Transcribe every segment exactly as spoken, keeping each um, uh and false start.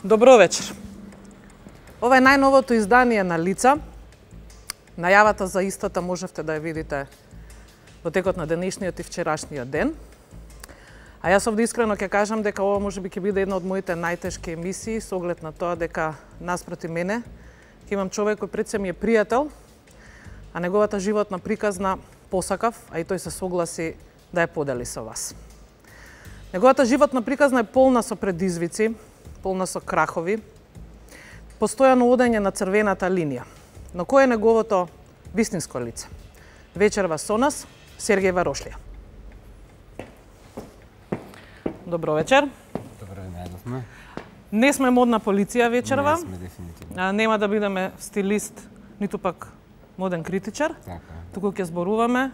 Добро вечер. Ова е најновото издание на Лица. Најавата за истата можевте да ја видите во текот на денешниот и вчерашниот ден. А јас овде искрено ќе кажам дека ова можеби ќе биде една од моите најтешки емисии со оглед на тоа дека наспроти мене ќе имам човек кој пред се ми е пријател, а неговата животна приказна посакав, а и тој се согласи да ја подели со вас. Неговата животна приказна е полна со предизвици, полна со крахови, постојано одење на црвената линија. Но кој е неговото вистинско лице? Вечерва со нас Сергеј Варошлија. Добро вечер. Добро најдовме. Не сме модна полиција вечерва. Не сме дефинитивно. А, нема да бидеме стилист, ниту пак моден критичар. Така. Туку ќе зборуваме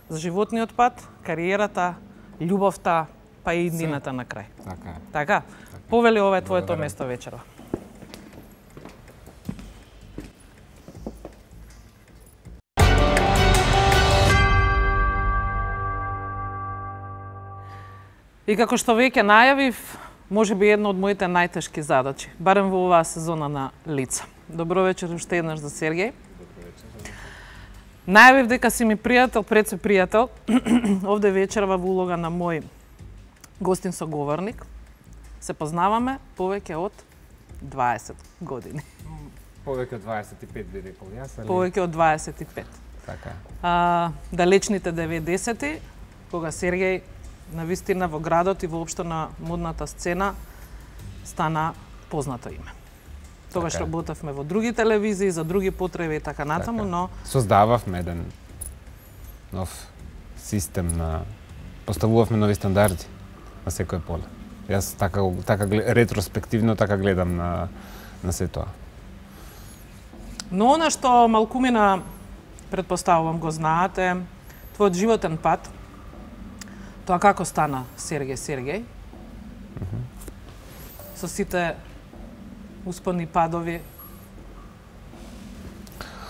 за животниот пат, кариерата, љубовта, па и иднината на крај. Така. Така? Повели, ова е твоето Благодарам. место вечерва. И како што веќе најавив, може би една од моите најтешки задачи, барем во оваа сезона на Лица. Добро вечер уште еднаш за Сергеј. Најавив дека си ми пријател, пред се пријател, овде вечерва во улога на мој гостин соговорник. Се познаваме повеќе од дваесет години. Повеќе од дваесет и пет би рекол јас, али... Повеќе од дваесет и пет. Така. А, далечните деветдесети, кога Сергеј навистина во градот и воопшто на модната сцена стана познато име. Тогаш Така. работевме во други телевизии, за други потреби и така натаму, Така. но Создававме еден нов систем на... Поставувавме нови стандарди на секој поле. Јас така, така ретроспективно така гледам на, на се тоа. Но она што малкумина, предпоставувам, го знаате, твојот животен пат, тоа како стана Сергеј Сергеј, со сите успони падови,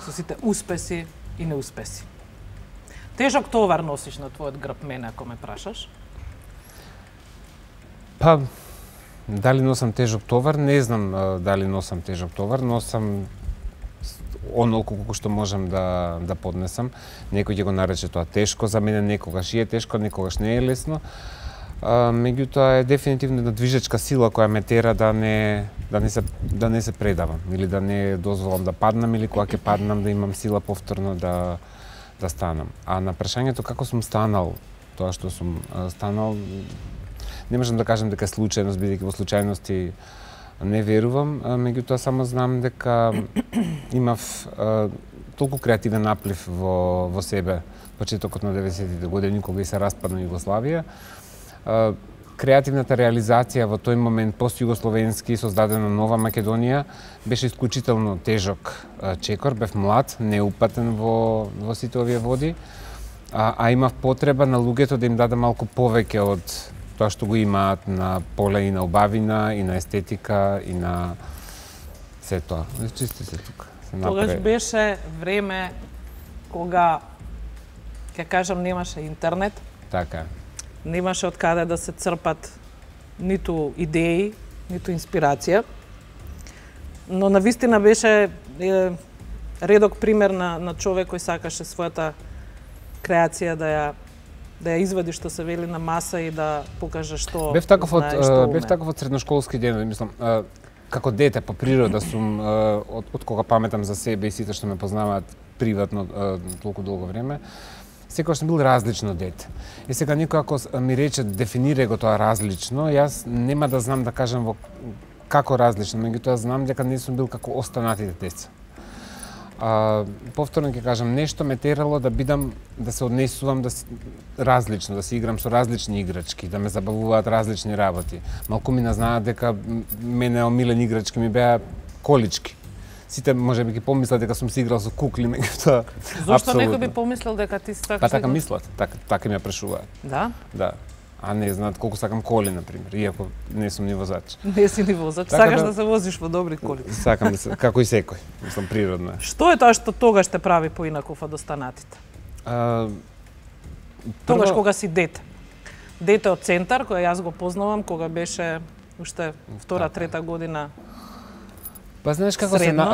со сите успеси и неуспеси. Тежок товар носиш на твојот грб, мене ако ме прашаш. Па, дали носам тежок товар? Не знам а, дали носам тежок товар, носам онолку колку што можам да, да поднесам. Некој ќе го нарече тоа тешко, за мене некогаш е тешко, некогаш не е лесно. А, меѓутоа е дефинитивно една движечка сила која ме тера да не, да не, се, да не се предавам, или да не дозволам да паднам, или кога ќе паднам да имам сила повторно да, да станам. А на прашањето како сум станал, тоа што сум а, станал, не можам да кажам дека е случајност, бидејќи во случајности не верувам, меѓутоа само знам дека имав а, толку креативен наплив во, во себе почетокот на деветдесетите години, кога и се распадна Југославија. А, креативната реализација во тој момент пост-југословенски, создадена нова Македонија, беше исклучително тежок а, чекор, бев млад, неупатен во, во сите овие води, а, а имав потреба на луѓето да им даде малку повеќе од тоа што го имаат на поле и на убавина, и на естетика, и на се тоа. Чисти се тука. Се Тогаш напре... беше време кога, ќе кажам, немаше интернет, Така. немаше од каде да се црпат ниту идеи, ниту инспирација. Но навистина беше е, редок пример на, на човек кој сакаше својата креација да ја да ја извади, што се вели, на маса и да покаже што Бев таков од знае, што бев уме. таков од средношколски ден, мислам, а, како дете по природа сум а, од, од кога паметам за себе и сите што ме познаваат приватно а, толку долго време. Секогаш сум бил различно дете. И сега никој ако ми рече дефинирај го тоа различно, јас нема да знам да кажам во како различно, меѓутоа знам дека не сум бил како останатите деца. А, повторно ќе кажам, нешто ме терало да бидам, да се однесувам да си, различно, да си играм со различни играчки, да ме забавуваат различни работи. Малку ми знаат дека мене омилен играчки ми беа колички. Сите можеби ги помислат дека сум си играл со кукли, меѓутоа Зошто некој би помислил дека ти сакаш? Па така да- мислат, така, така ми ја прашуваат. Да? Да. А не знаат колку сакам коли, например, иако не сум ни возач. Не си ни возач, Така сакаш да- да се возиш во добри коли. Сакам да се, како и секој, мислам природно. Што е тоа што тогаш те прави поинаков од останатите? А, Тогаш прво- кога си дете. Дете од центар, која јас го познавам, кога беше уште втора, трета година. Па знаеш како се на,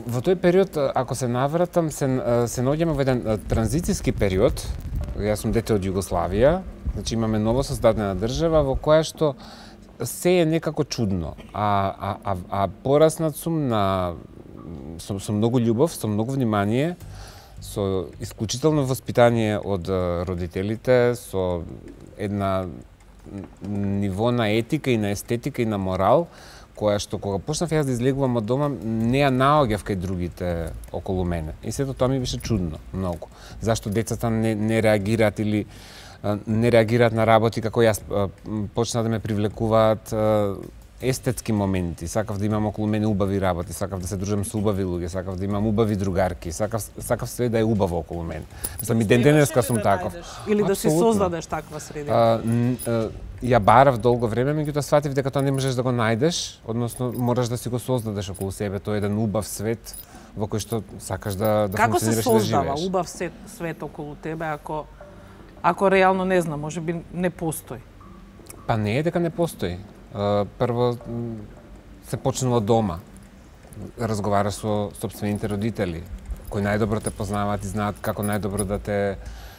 во тој период, ако се навратам, се се наоѓаме во еден транзицијски период. Јас сум дете од Југославија, значи имаме ново создадена држава во која што се е некако чудно, а а а, а пораснат сум на со, со многу љубов, со многу внимание, со исклучително воспитание од родителите, со една ниво на етика и на естетика и на морал, која што кога почнав јас да излегувам од дома, не ја наоѓав кај другите околу мене. И сето тоа ми беше чудно многу. Зашто децата не, не реагираат или не реагираат на работи како јас, почна да ме привлекуваат естетски моменти. Сакав да имам околу мене убави работи, сакав да се дружам со убави луѓе, сакав да имам убави другарки, сакав сакав све да е убаво околу мене. Мислам и ден денеска сум таков. Или да си создадеш таква средина. Ја барав долго време, меѓутоа сватив дека тоа не можеш да го најдеш, односно мораш да си го создадеш околу себе, тоа е еден убав свет во кој што сакаш да да Како функционираш и да живееш. Како се создава убав свет, свет околу тебе ако ако реално не знам, можеби не постои? Па не е дека не постои. Прво се почнува дома. Разговараш со сопствените родители, кои најдобро те познаваат и знаат како најдобро да те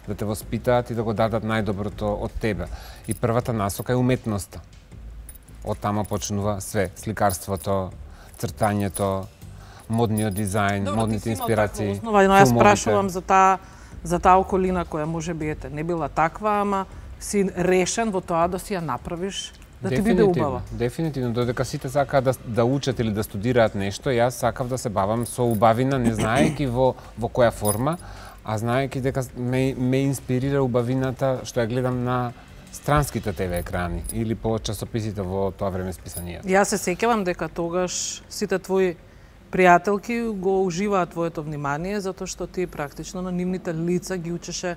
да те воспитаат и да го дадат најдоброто од тебе. И првата насока е уметноста. Од тама почнува све, сликарството, цртањето, модниот дизајн, Добро, модните инспирации, основа, но јас прашувам за таа за таа околина која може би ете не била таква, ама си решен во тоа да си ја направиш да ти биде убава. Дефинитивно, додека сите сакаат да, да учат или да студираат нешто, јас сакав да се бавам со убавина, не знаејќи во во која форма, а знаејќи дека ме, ме инспирира убавината што ја гледам на странските те ве екрани или по часописите во тоа време списанијата. Јас се сеќавам дека тогаш сите твои пријателки го уживаат твоето внимание затоа што ти практично на нивните лица ги учеше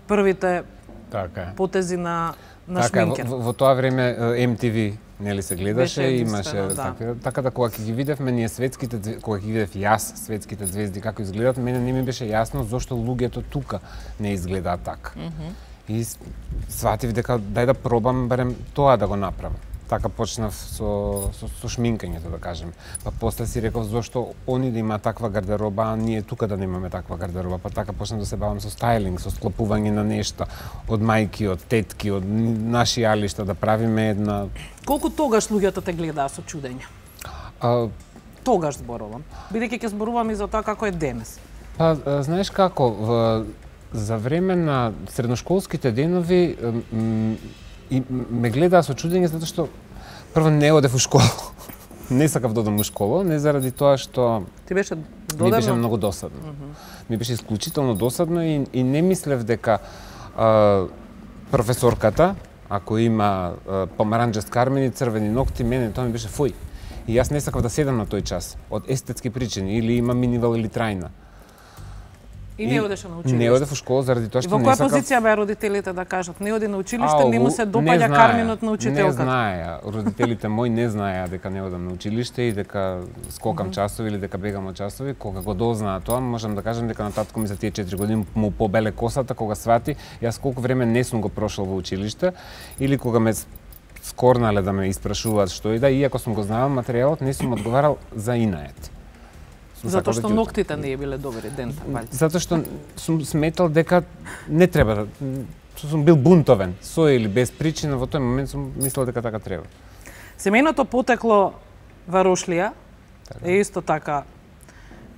првите така потези на на така, шминкер. Во, во тоа време Ем Ти Ви нели се гледаше и имаше да. така, така да кога ќе ги видевме ние светските, кога ќе ги видев јас светските звезди како изгледаат, мене не ми беше јасно зошто луѓето тука не изгледаат така. Mm -hmm. И сватив дека дај да пробам барем тоа да го направам. Така почнав со, со, со шминкањето, да кажем. Па после си реков зошто они да имаат таква гардероба, а ние тука да немаме таква гардероба. Па така почнав да се бавам со стајлинг, со склопување на нешта од мајки, од тетки, од наши алишта, да правиме една... Колку тогаш луѓето те гледаа со чудење? А... Тогаш зборувам. Бидејќи ќе зборувам и за тоа како е денес. Па, знаеш како, в, за време на средношколските денови и ме гледаа со чудење затоа што прво не одев у школа. Не сакав да одам у школа, не заради тоа што ти беше додадно. Ми беше многу досадно. Mm -hmm. Ми беше исклучително досадно и, и не мислев дека а, професорката, ако има а, помаранџест кармен и црвени ногти, мене тоа ми беше фуј. И јас не сакав да седам на тој час од естетски причини или има минивал или трајна. И не одеше на училиште. Не одев у школа заради тоа што не сакав. И во која позиција беа родителите да кажат не оди на училиште, не му се допаѓа карминот на учителката? Не знаеа, родителите мои не знаеа дека не одам на училиште и дека скокам mm -hmm. часови или дека бегам од часови. Кога го дознаа тоа, можам да кажам дека на татко ми за тие четири години му побеле косата кога свати јас колку време не сум го прошол во училиште или кога ме скорнале да ме испрашуваат што и да, иако сум го знаел материјалот, не сум одговарал за инает. Затоа што ноктите не биле добри, дента, палци. Затоа што сум сметал дека не треба да... Сум бил бунтовен, со или без причина, во тој момент сум мислел дека така треба. Семејното потекло во Рошлија е исто така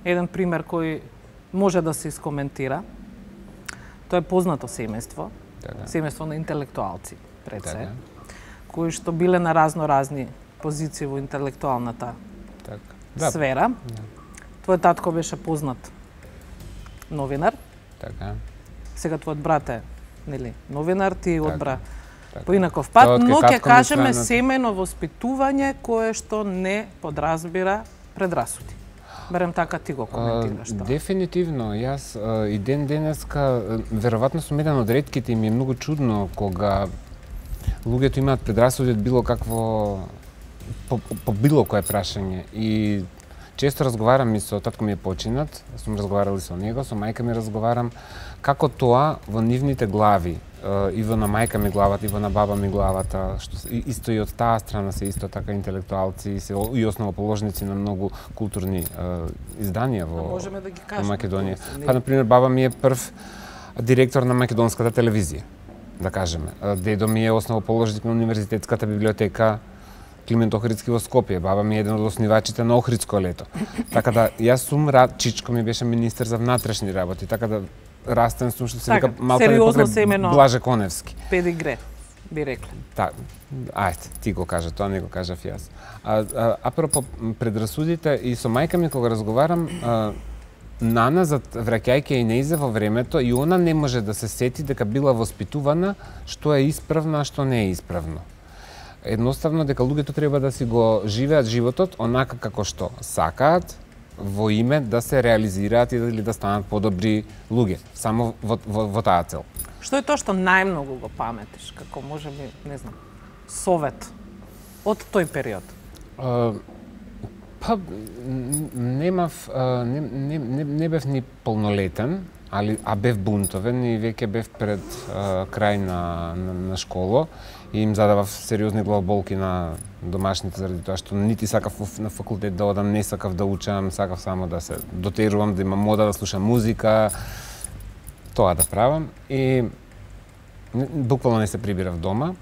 еден пример кој може да се искоментира. Тоа е познато семејство, така. Семејство на интелектуалци, пред се, така. Кои што биле на разно-разни позиции во интелектуалната така. Да. Сфера. Да. Твој татко беше познат новинар. Така. Сега твојот брат е, нели, новинар, ти така. Одбра така. По инаков пат, но ќе кажеме семејно воспитување кое што не подразбира предрасуди. Барем така ти го коментираш тоа. Дефинитивно, јас а, и ден денеска веројатно сум еден од ретките и ми е многу чудно кога луѓето имаат предрасуди од било какво по, по било кое прашање и често разговарам и со татко ми е починат, сум разговарал и со него, со мајка ми разговарам, како тоа во нивните глави иво на мајка ми главата, иво на баба ми главата, што исто и од таа страна се исто така интелектуалци, се и основоположници на многу културни изданија во, да ги во Македонија. Па, например, баба ми е прв директор на македонската телевизија, да кажеме. Дедо ми е основоположник на универзитетската библиотека Климент Охридски во Скопје. Баба ми е еден од основачите на Охридско лето. Така да, јас сум рад, чичко ми беше министер за внатрешни работи, така да растен сум, што се вика малку не покрај Блаже Коневски. Педигре, би рекле. Та, ајде, ти го кажа, тоа не го кажав јас. А, а, апропо предрасудите, и со мајка ми кога разговарам, а, Нана, враќајќи и неизе во времето, и она не може да се сети дека била воспитувана што е исправно, а што не е исправно. Едноставно дека луѓето треба да си го живеат животот онака како што сакаат, во име да се реализираат или да станат подобри луѓе, само во, во, во таа цел. Што е тоа што најмногу го паметиш, како може би, не знам, совет од тој период? Uh, па, немав, uh, не, не, не, не бев ни полнолетен, али, а бев бунтовен и веќе бев пред uh, крај на, на, на школо и им задавав сериозни главоболки на домашните заради тоа што нити сакав на факултет да одам, не сакав да учам, сакав само да се дотерувам, да имам мода, да слушам музика, тоа да правам. И буквално не се прибирав дома.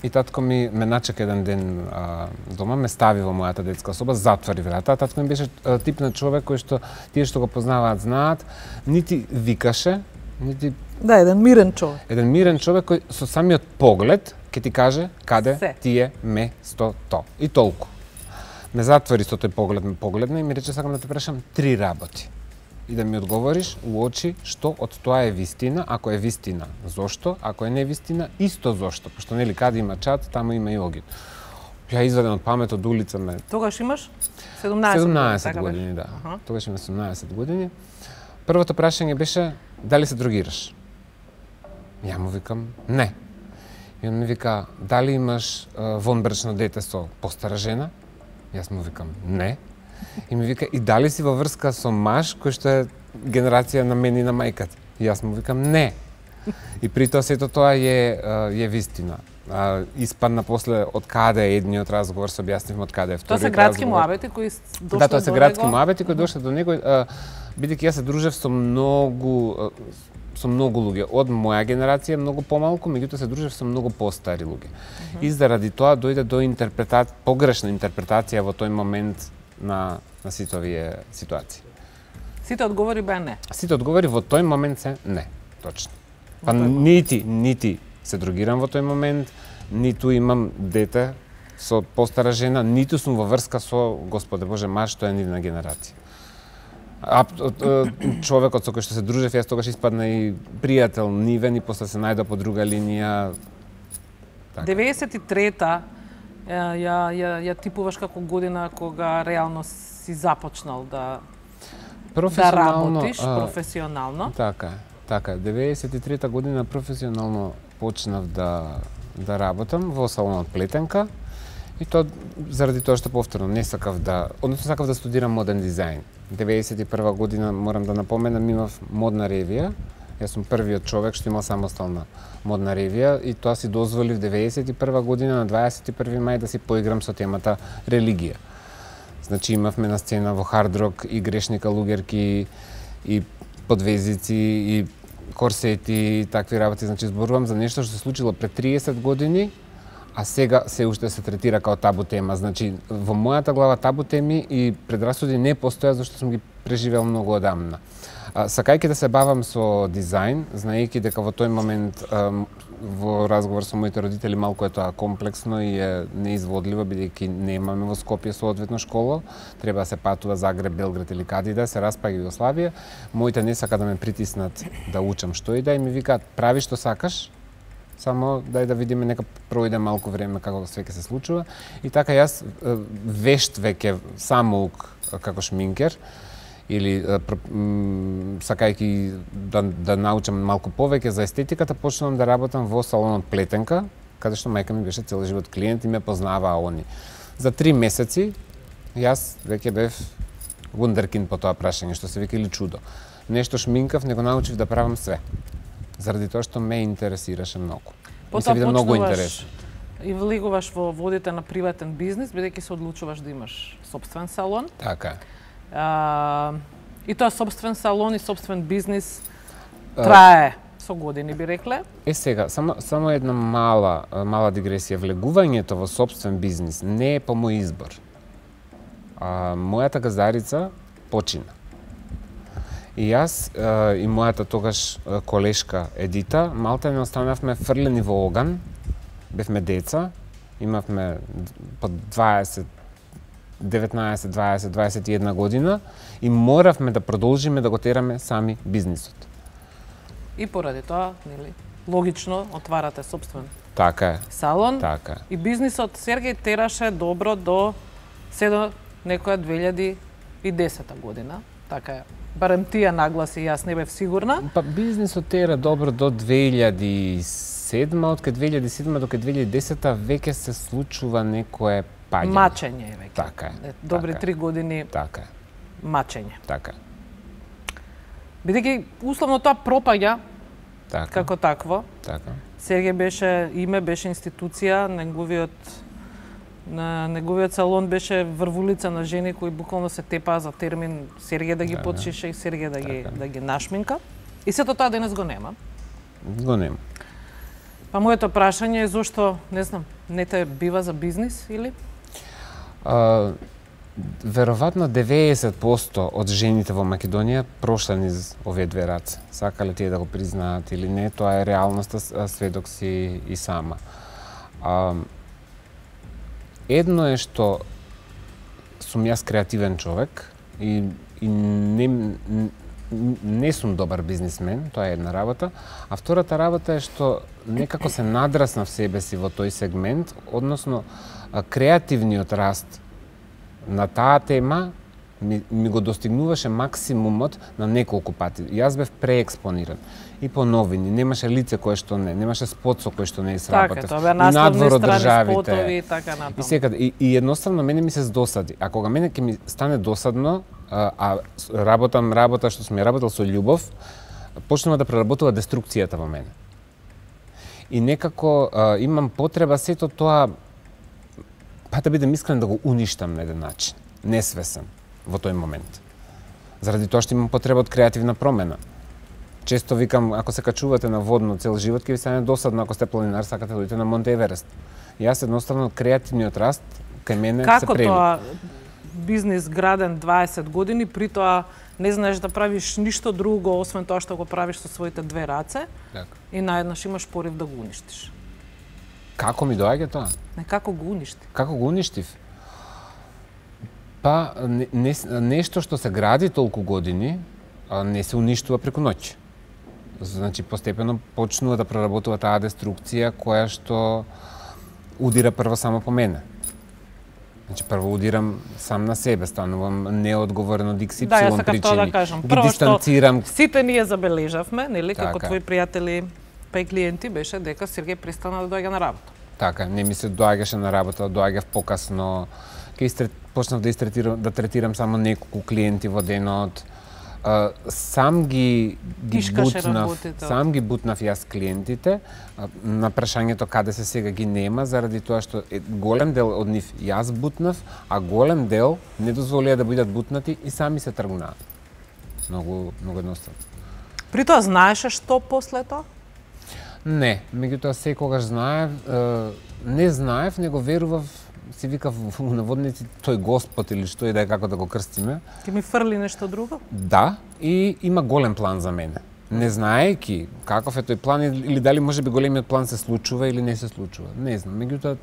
И татко ми ме начека еден ден а, дома, ме стави во мојата детска соба, затвори врата. Татко ми беше а, тип на човек кој што тие што го познаваат знаат, нити викаше, нити да, еден мирен човек. Еден мирен човек кој со самиот поглед ќе ти каже каде Се. ти е местото. И толку. Ме затвори со тој поглед, ме погледна и ми рече сакам да те прашам три работи. И да ми одговориш у очи што од тоа е вистина, ако е вистина, зошто, ако е невистина, исто зошто, пошто нели каде има чад, таму има и огид. Ја изваден од памет од улица ме. Тогаш имаш седумнаесет, седумнаесет години, да. Uh -huh. Тогаш имам седумнаесет години. Првото прашање беше дали се дрогираш? Ја му викам не. И он ми вика дали имаш вонбрачно дете со постара жена? Јас му викам не. И ми вика, и дали си во врска со маж кој што е генерација на мене и на мајката? И јас му викам, не. И при тоа сето тоа е, е вистина. А, испадна после од каде е едниот разговор, се објаснивме од каде е вториот разговор. Тоа се градски муабети кои дошле до него? Да, тоа се градски муабети кои дошле до него. Бидејќи јас се дружев со многу со многу луѓе од моја генерација, многу помалку, меѓутоа се дружев со многу постари луѓе. Uh -huh. И заради тоа дојде до интерпретација, погрешна интерпретација во тој момент на, на сите овие ситуации. Сите одговори беа не? Сите одговори во тој момент се не, точно. Па нити, нити се дрогирам во тој момент, ниту имам дете со постара жена, ниту сум во врска со, Господе Боже, маж, што е нивна генерација. А, човекот со кој што се дружев, јас тогаш испадна и пријател нивен и после се најдов по друга линија. Така. деветдесет и трета ја, ја, ја типуваш како година кога реално си започнал да, да работиш а, професионално. Така, така. деветдесет и трета година професионално почнав да, да работам во салонот Плетенка. И тоа заради тоа што повторно не сакав да, односно сакав да студирам моден дизајн. деветдесет и прва година, морам да напоменам, имав модна ревија. Јас сум првиот човек што имал самостална модна ревија и тоа си дозволив деветдесет и прва година на дваесет и први мај да си поиграм со темата религија. Значи имавме на сцена во Хард Рок и грешника луѓерки и подвезици и корсети и такви работи. Значи зборувам за нешто што се случило пред триесет години, а сега се уште се третира као табу тема. Значи, во мојата глава табу теми и предрасуди не постојат, зашто сум ги преживел многу одамна. А, сакајќи да се бавам со дизајн, знаејќи дека во тој момент а, во разговор со моите родители малку е тоа комплексно и е неизводливо, бидејќи немаме во Скопје соодветно школа, треба да се патува Загреб, Белград или каде да се распаѓа Југославија. Моите не сака да ме притиснат да учам што и да и ми викаат прави што сакаш, само дај да видиме, нека пројде малку време како све ќе се случува. И така јас вешт веќе самоук како шминкер или сакајќи да, да научам малку повеќе за естетиката, почнувам да работам во салонот Плетенка, каде што мајка ми беше цел живот клиент и ме познаваа они. За три месеци јас веќе бев вундеркинд по тоа прашање, што се вика или чудо. Нешто шминкав, него научив да правам све. заради тоа што ме интересираше многу. Ми се Потоа виде многу почнуваш интересно. и влегуваш во водите на приватен бизнис, бидејќи се одлучуваш да имаш сопствен салон. Така е. А, и тоа сопствен салон и сопствен бизнис трае со години, би рекле. Е сега, само само една мала мала дигресија. Влегувањето во сопствен бизнис не е по мој избор. А, мојата газарица почина. И јас а, и мојата тогаш колешка Едита малте не останавме фрлени во оган. Бевме деца, имавме по дваесет, деветнаесет, дваесет, дваесет и една година и моравме да продолжиме да го тераме сами бизнисот. И поради тоа, нели, логично отварате сопствен Така е. салон. Така е. И бизнисот Сергеј тераше добро до се до некоја две илјади и десета година. Така е. Барем тие нагласи, јас не бев сигурна. Па бизнисот тера добро до две илјади и седма, од кај две илјади и седма до кај две илјади и десета веќе се случува некое паѓање. Мачење е веќе. Така е. Добри така три години Така е. мачење. Така е. Бидејќи условно тоа пропаѓа Така. како такво. Така. Сергеј беше име, беше институција, неговиот на неговиот салон беше врвулица на жени кои буквално се тепаа за термин Сергеј да ги Да, потшише и Сергеј да ги така. да ги нашминка. И сето тоа денес го нема. Го нема. Па моето прашање е зошто, не знам, не те бива за бизнис или? А, веројатно деветдесет проценти од жените во Македонија прошла низ овие две раце. Сакале тие да го признаат или не, тоа е реалноста, сведок си и сама. А, едно е што сум јас креативен човек и, и не, не сум добар бизнисмен, тоа е една работа, а втората работа е што некако се надраснав себе си во тој сегмент, односно креативниот раст на таа тема ми, ми го достигнуваше максимумот на неколку пати. Јас бев преекспониран. И по новини, немаше лице кое што не, немаше спот со кој што не сработев. Така, тоа беа насловни надвор од страни, државите. спотови и така натаму. И секаде, и, и едноставно мене ми се здосади. А кога мене ќе ми стане досадно, а, а работам работа што сум ја работел со љубов, почнува да преработува деструкцијата во мене. И некако а, имам потреба сето тоа, па да бидем искрен, да го уништам на еден начин, несвесен во тој момент. Заради тоа што имам потреба од креативна промена. Често викам, ако се качувате на водно цел живот, ќе ви стане досадно ако сте планинар, сакате да одите на Монте Еверест. Јас едноставно креативниот раст кај мене Како се прелива. тоа бизнис граден дваесет години, при тоа не знаеш да правиш ништо друго освен тоа што го правиш со своите две раце Така. и наеднаш имаш порив да го уништиш. Како ми доаѓа тоа? Не, како го уништи? Како го уништив? Па, не, не, нешто што се гради толку години, а, не се уништува преку ноќ. Значи, постепено почнува да проработува таа деструкција која што удира прво само по мене. Значи, прво удирам сам на себе, станувам неодговорен од икс ипсилон Да, јас сакав тоа да кажам. Ги Прво дистанцирам. што сите ние забележавме, нели, како Така. твои пријатели па и клиенти, беше дека Сергеј престана да доаѓа на работа. Така, не ми се доаѓаше на работа, доаѓав покасно. Ке истрет, почнав да истретирам, да третирам само неколку клиенти во денот. Uh, сам ги, ги Тишкаше бутнав, работите. сам ги бутнав јас клиентите. Uh, на прашањето каде се сега ги нема, заради тоа што е, голем дел од нив јас бутнав, а голем дел не дозволија да бидат бутнати и сами се тргнаа. Многу, многу едноставно. При тоа знаеше што после тоа? Не, меѓутоа секогаш знаев, uh, не знаев, него верував, си викав во наводници тој Господ или што и да е како да го крстиме. Ќе ми фрли нешто друго? Да, и има голем план за мене. Не знаејќи каков е тој план или дали можеби големиот план се случува или не се случува. Не знам, меѓутоа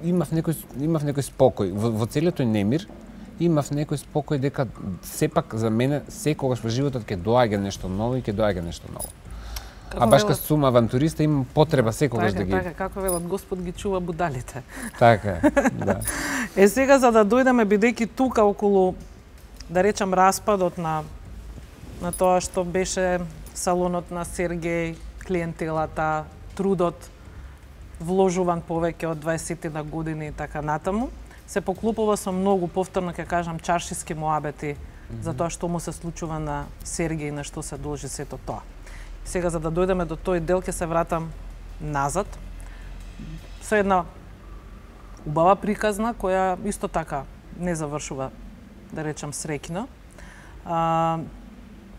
имав некој имав некој спокој во, во целиот тој немир. Имав некој спокој дека сепак за мене секогаш во животот ќе доаѓа нешто ново и ќе доаѓа нешто ново. Како А баш велат- кога сум авантуриста имам потреба секогаш Така, да ги така, како велат Господ ги чува будалите. така, е, да. Е сега за да дојдеме бидејќи тука околу да речам распадот на на тоа што беше салонот на Сергеј, клиентелата, трудот вложуван повеќе од дваесет на години и така натаму, се поклупува со многу, повторно ќе кажам, чаршиски моабети mm -hmm. за тоа што му се случува на Сергеј и на што се должи сето тоа. Сега, за да дојдеме до тој дел, ќе се вратам назад. Со една убава приказна, која исто така не завршува, да речам, среќна. А,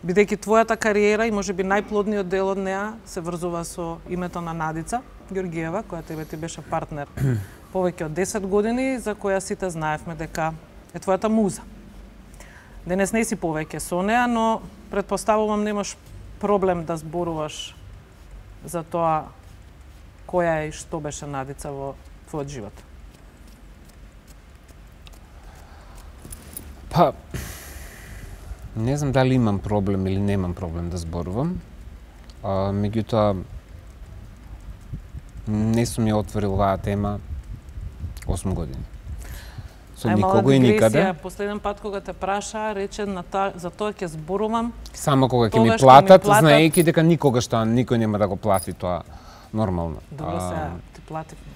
бидејќи твојата кариера и можеби најплодниот дел од неа се врзува со името на Надица Георгиева, која тебе ти беше партнер повеќе од десет години, за која сите знаевме дека е твојата муза. Денес не си повеќе со неа, но предпоставувам немаш проблем да зборуваш за тоа која е и што беше Надица во твојот живот. Па, не знам дали имам проблем или немам проблем да зборувам. А, меѓутоа, не сум ја отворил оваа тема осум години. Со Ај, никого и никаде. Последен пат кога те праша, рече на та, за тоа ќе зборувам. Само кога ќе ми тогаш платат, ми платат, знаејќи дека никогаш тоа никој нема да го плати тоа нормално. Добро, А, сега ти плативме.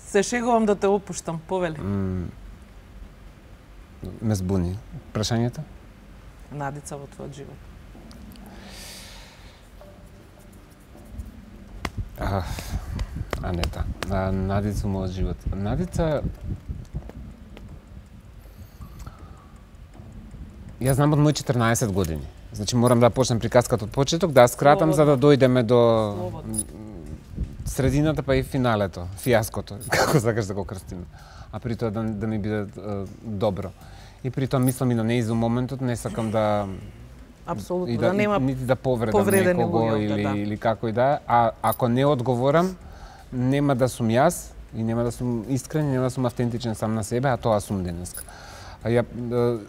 Се шегувам да те опуштам, повели. м, Ме збуни. Прашањето? Надица во твојот живот. А, Анета, а, Надица во мојот живот. Надица... Ја знам од мои четрнаесет години. Значи морам да почнем приказката од почеток, да ја скратам за да дојдеме до Слободно. средината па и финалето, фијаското, како сакаш да го крстиме. А при тоа да, да ми биде е, добро. И при тоа мислам и на неизу моментот, не сакам да Апсолутно, и да, да, нема нити да повредам повредени некого луѓе, или, да. или како и да е. А ако не одговорам, нема да сум јас и нема да сум искрен, нема да сум автентичен сам на себе, а тоа сум денеска. А ја,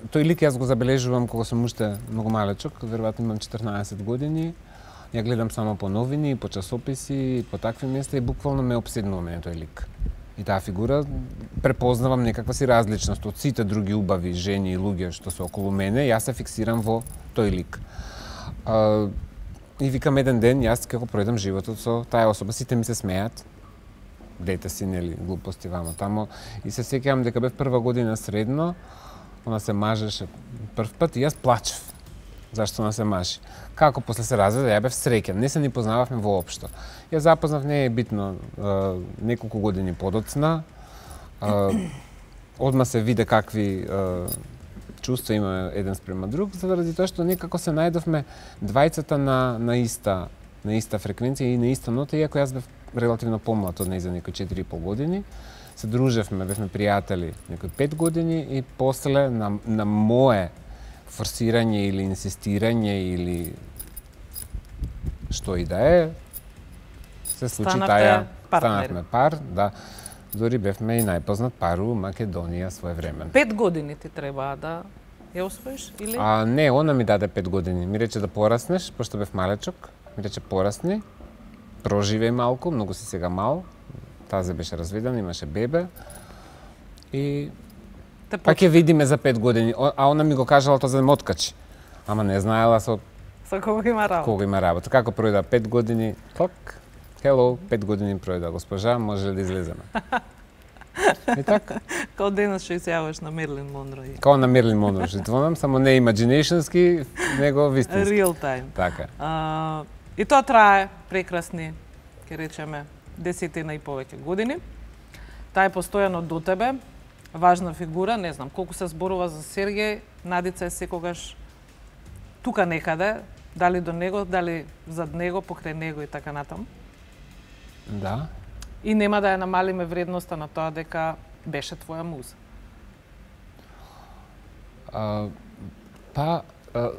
тој лик јас го забележувам кога сум уште многу малечок, веројатно имам четрнаесет години. Ја гледам само по новини, по часописи, по такви места и буквално ме опседнува мене тој лик. И таа фигура препознавам некаква си различност од сите други убави жени и луѓе што се околу мене, јас се фиксирам во тој лик. А, и викам еден ден, јас како пројдам животот со таа особа, сите ми се смеат, дете си, нели, глупости вамо тамо, и се сеќавам дека бев прва година средно, она се мажеше прв пат и јас плачев. Зашто она се мажи? Како после се разведе, ја бев среќен, не се ни познававме воопшто. Ја запознав, не е битно, а, неколку години подоцна, а, одма се виде какви а, чувства има еден спрема друг, заради тоа што некако се најдовме двајцата на, на иста на иста фреквенција и на иста нота, иако јас бев релативно помлад од неј за некои четири и пол години. Се дружевме, бевме пријатели некои пет години и после на, на мое форсирање или инсистирање или што и да е, се случи Станавте таја, партнери. станавме пар, да. Дори бевме и најпознат пар у Македонија своевремено. Пет години ти треба да ја освоиш или? А не, она ми даде пет години. Ми рече да пораснеш, пошто бев малечок. Ми рече порасни, проживеј малку, многу си сега мал. Тазе беше разведена, имаше бебе. И Те па ќе видиме за пет години. О- А она ми го кажала тоа за да ме откачи. Ама не знаела со Со кого има работа? кого има работа. Како пројда пет години, клак, hello, пет години пројда, госпожа, може ли да излеземе? И така. Као денес што изјаваш на Мерлин Монро и Као на Мерлин Монро што звонам, само не imaginationski, него вистински. real time. Така. А, и тоа трае прекрасни, ќе речеме, десетина и повеќе години. Таа е постојано до тебе, важна фигура, не знам колку се зборува за Сергеј, Надица е секогаш тука некаде, дали до него, дали зад него, покрај него и така натаму. Да. И нема да ја намалиме вредноста на тоа дека беше твоја муза. А, па, а,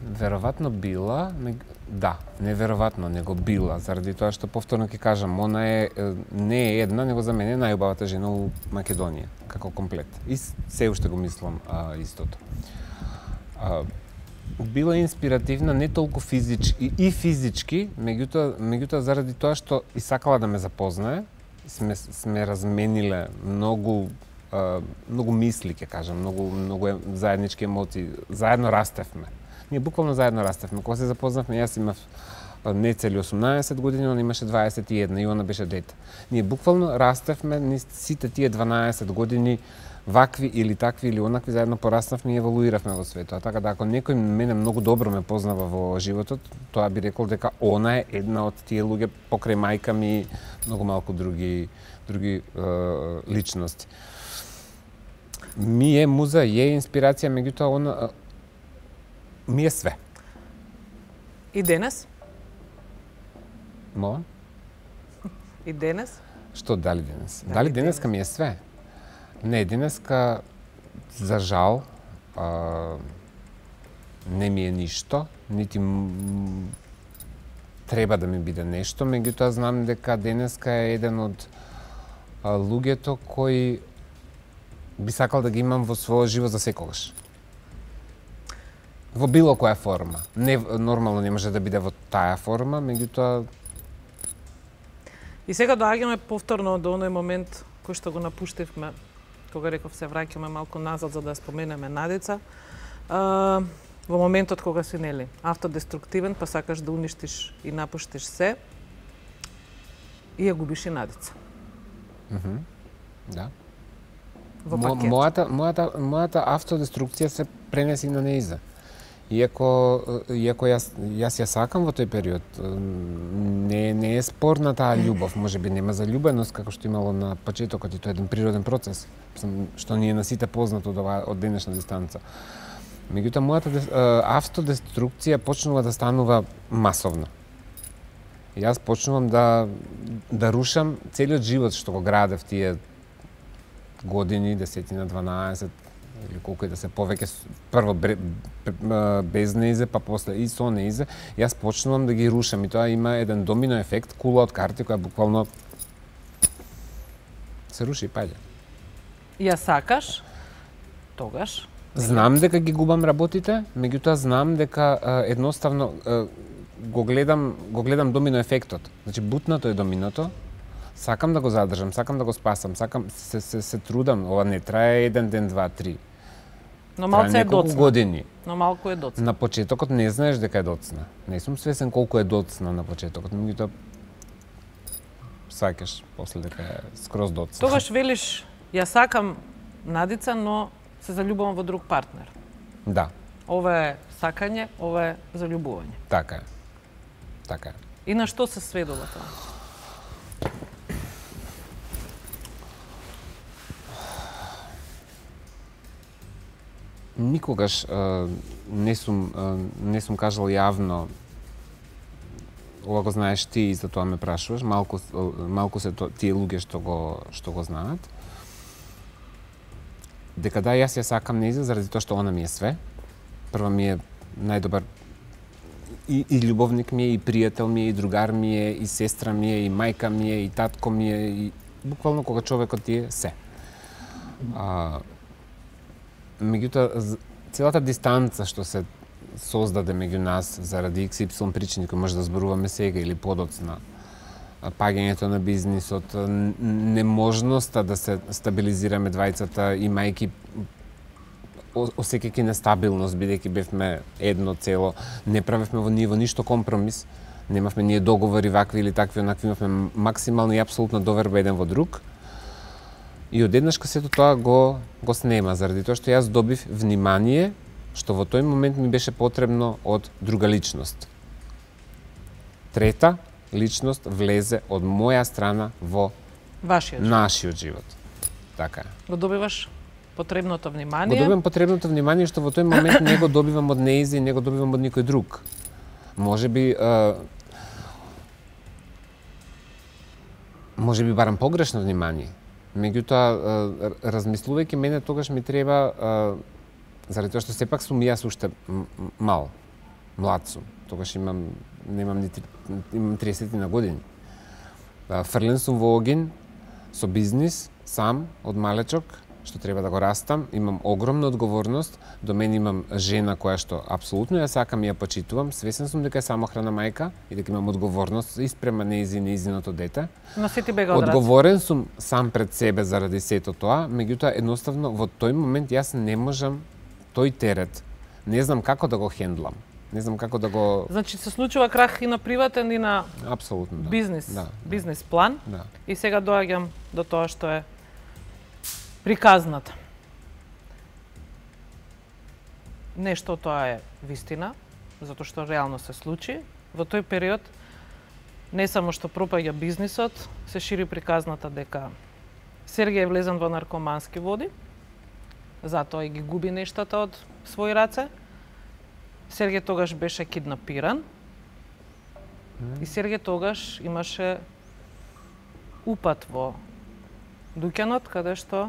веројатно била, мег- да, не веројатно, него била, заради тоа што повторно ќе кажам, она е е, не е една, него за мене е најубавата жена у Македонија, како комплет. И с- се уште го мислам а, истото. А, била инспиративна не толку физички и физички, меѓутоа меѓутоа заради тоа што и сакала да ме запознае, сме сме размениле многу а, многу мисли, ќе кажам, многу многу е- заеднички емоции, заедно растевме. Ние буквално заедно растевме. Кога се запознавме, јас имав а, не цели осумнаесет години, она имаше дваесет и една и она беше дете. Ние буквално растевме низ сите тие дванаесет години вакви или такви или онакви, заедно пораснавме и еволуиравме во светот. Така да ако некој мене многу добро ме познава во животот, тоа би рекол дека она е една од тие луѓе покрај мајка ми и многу малку други други е, личности. Ми е муза, е инспирација, меѓутоа она ми е све. И денес? Молам? И денес? Што дали денес? Дали, дали денеска ми е све? Не, денеска, за жал, а, не ми е ништо, нити треба да ми биде нешто, меѓутоа знам дека денеска е еден од а, луѓето кои би сакал да ги имам во својот живот за секогаш. Во било која форма. Не, нормално не може да биде во таа форма, меѓутоа... И сега доаѓаме повторно до оној момент кој што го напуштивме, кога реков се враќаме малку назад за да споменеме Надица. А, во моментот кога си, нели, автодеструктивен, па сакаш да уништиш и напуштиш се, и ја губиш и Надица. Mm-hmm. Да. Во Мо, пакет. мојата, мојата, мојата автодеструкција се пренеси на неиза. Иако, иако јас, јас ја сакам во тој период, не, не е спорна таа љубов, може би нема заљубеност како што имало на почетокот и тоа е еден природен процес, што ни е на сите познато од, ова, од денешна дистанца. Меѓутоа, мојата автодеструкција почнува да станува масовна. Јас почнувам да, да рушам целиот живот што го градев тие години, десетина, дванаесет, или колку и да се повеќе, прво без неизе, па после и со неизе, јас почнувам да ги рушам и тоа има еден домино ефект, кула од карти која буквално се руши и паѓа. Ја сакаш, тогаш? Знам дека ги губам работите, меѓутоа знам дека а, едноставно а, го гледам, го гледам домино ефектот. Значи бутнато е доминото, сакам да го задржам, сакам да го спасам, сакам се се, се трудам, ова не трае еден ден, два, три. Но малце е доцна. Години. Но малку е доцна. На почетокот не знаеш дека е доцна. Не сум свесен колку е доцна на почетокот, меѓутоа сакаш после дека е скроз доцна. Тогаш велиш, ја сакам Надица, но се заљубувам во друг партнер. Да. Ова е сакање, ова е заљубување. Така е. Така е. И на што се сведува тоа? Никогаш а, не сум а, не сум кажал јавно, ова го знаеш ти и за тоа ме прашуваш, малку малку се то, тие луѓе што го што го знаат. Дека да, јас ја сакам нејза заради тоа што она ми е све. Прво ми е најдобар и, и љубовник ми е, и пријател ми е, и другар ми е, и сестра ми е, и мајка ми е, и татко ми е, и буквално кога човекот ти е се. А, меѓутоа, целата дистанца што се создаде меѓу нас заради икс ипсилон причини кои може да зборуваме сега или подоцна, паѓањето на бизнисот, неможноста да се стабилизираме двајцата, имајќи осеќајќи нестабилност, бидејќи бевме едно цело, не правевме во ниво ништо компромис, немавме ние договори вакви или такви, онакви, имавме максимално и апсолутна доверба еден во друг. И одеднашка сето тоа го го снема, заради тоа што јас добив внимание што во тој момент ми беше потребно од друга личност. Трета личност влезе од моја страна во Вашиот живот. Нашиот живот. Така е. Го добиваш потребното Го внимание. добивам потребното внимание што во тој момент не го добивам од неизи и не го добивам од никој друг. Може би а, може би барам погрешно внимание. Меѓутоа, размислувајќи мене, тогаш ми треба, заради тоа што сепак сум јас уште мал, млад сум. Тогаш имам, немам ни, имам триесет на години. Фрлен сум во огин, со бизнис, сам, од малечок, што треба да го растам. Имам огромна одговорност, до мене имам жена која што апсолутно ја сакам и ја почитувам. Свесен сум дека е самохрана мајка и дека имам одговорност испрема нејзи нејзиното дете. Но се ти бега од раце. Одговорен сум сам пред себе заради сето тоа, меѓутоа едноставно во тој момент јас не можам тој терет. Не знам како да го хендлам. Не знам како да го... Значи се случува крах и на приватен и на Апсолутно, да. бизнис, да, бизнис план. Да. И сега доаѓам до тоа што е приказната. нешто тоа е вистина, затоа што реално се случи. Во тој период не само што пропаѓа бизнисот, се шири приказната дека Сергеј е влезен во наркомански води, затоа и ги губи нештата од своји раце. Сергеј тогаш беше киднапиран mm. и Сергеј тогаш имаше упат во дуќанот, каде што...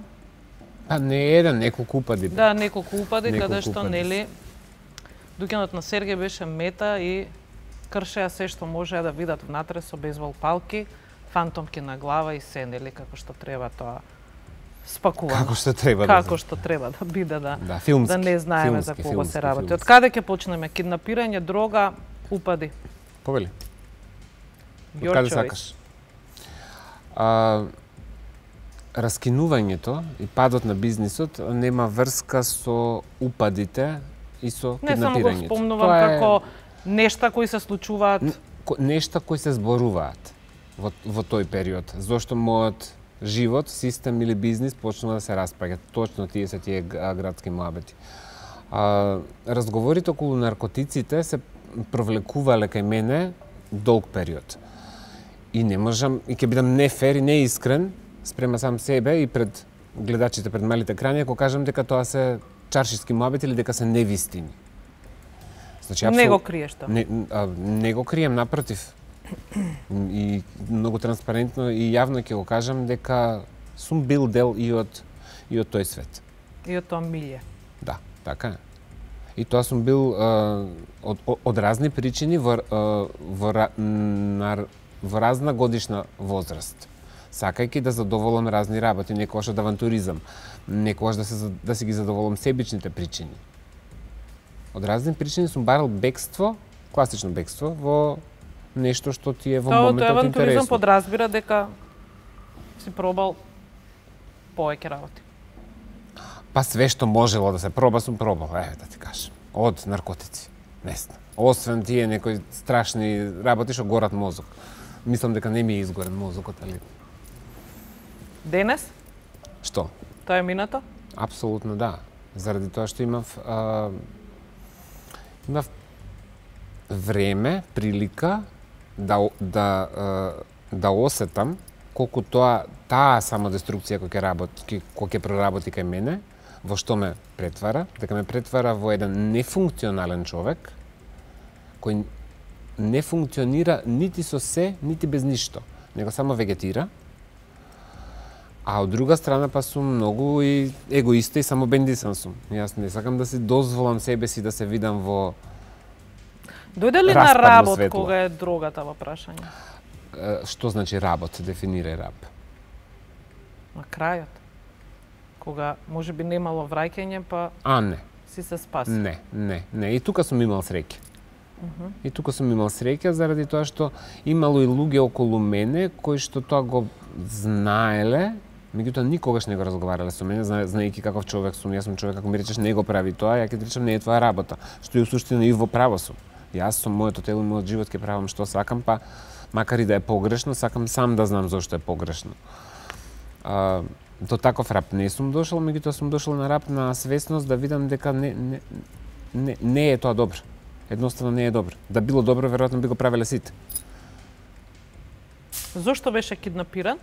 А не еден, неколку упади. Да, неколку упади, неколку каде што, упади. нели, дуќанот на Сергеј беше мета и кршеа се што можеа да видат внатре со бейсбол палки, фантомки на глава и се, нели, како што треба тоа спакувано. Како што треба Како да што треба да биде, да, да, филмски, да не знаеме филмски, за кого филмски, се работи. филмски. Од каде ќе почнеме? Киднапирање, дрога, упади. Повели. Your Од каде choice. сакаш? А, раскинувањето и падот на бизнисот нема врска со упадите и со Не само го киднапирањето. спомнувам Тоа е како нешта кои се случуваат. н- ко- нешта кои се зборуваат во, во тој период. Зошто мојот живот, систем или бизнис почнува да се распаѓа. Точно тие се тие г- градски муабети. А, разговорите околу наркотиците се провлекувале кај мене долг период. И не можам, и ќе бидам нефер и неискрен спрема сам себе и пред гледачите, пред малите екрани, ако кажам дека тоа се чаршиски муабети или дека се невистини. Значи, Не апсол- го криеш тоа. Не, а, не го крием, напротив. И многу транспарентно и јавно ќе го кажам дека сум бил дел и од и од тој свет. И од тоа милје. Да, така е. И тоа сум бил а, од, од, од разни причини во, а, во, ра- на, во разна годишна возраст. Сакајќи да задоволам разни работи, некогаш од авантуризам, некогаш да, се, да си ги задоволам себичните причини. Од разни причини сум барал бегство, класично бегство, во нешто што ти е во Тоа, тоа моментот авантуризам интересно. подразбира дека си пробал повеќе работи. Па све што можело да се проба, сум пробал, еве да ти кажам. Од наркотици, не знам. Освен тие некои страшни работи што горат мозок. Мислам дека не ми е изгорен мозокот, али Денес, што? тоа е минато. Апсолутно да. Заради тоа што имав а, имав време, прилика да о- да а, да осетам колку тоа таа самодеструкција која ќе работи, која ќе проработи кај мене, во што ме претвара, дека ме претвара во еден нефункционален човек кој не функционира нити со се, нити без ништо, него само вегетира. А од друга страна па сум многу и егоиста и самобендисан сум. Јас не сакам да си дозволам себе си да се видам во Дојде ли на Распадно работ светло. кога е дрогата во прашање? е, што значи работ, дефинирај раб. На крајот. Кога можеби немало враќање, па А не, си се спаси. не, не, не. И тука сум имал среќа. И тука сум имал среќа заради тоа што имало и луѓе околу мене кои што тоа го знаеле, меѓутоа никогаш не го разговарале со мене, зна- знаејќи каков човек сум. Јас сум човек, ако ми речеш не го прави тоа, ја ќе ти речам не е твоја работа. Што и у суштина и во право сум. Јас со моето тело и мојот живот ќе правам што сакам, па макар и да е погрешно, сакам сам да знам зошто е погрешно. А, до таков рап не сум дошол, меѓутоа сум дошол на рап на свесност да видам дека не, не, не, не е тоа добро. Едноставно не е добро. Да било добро, веројатно би го правеле сите. Зошто беше киднапиран?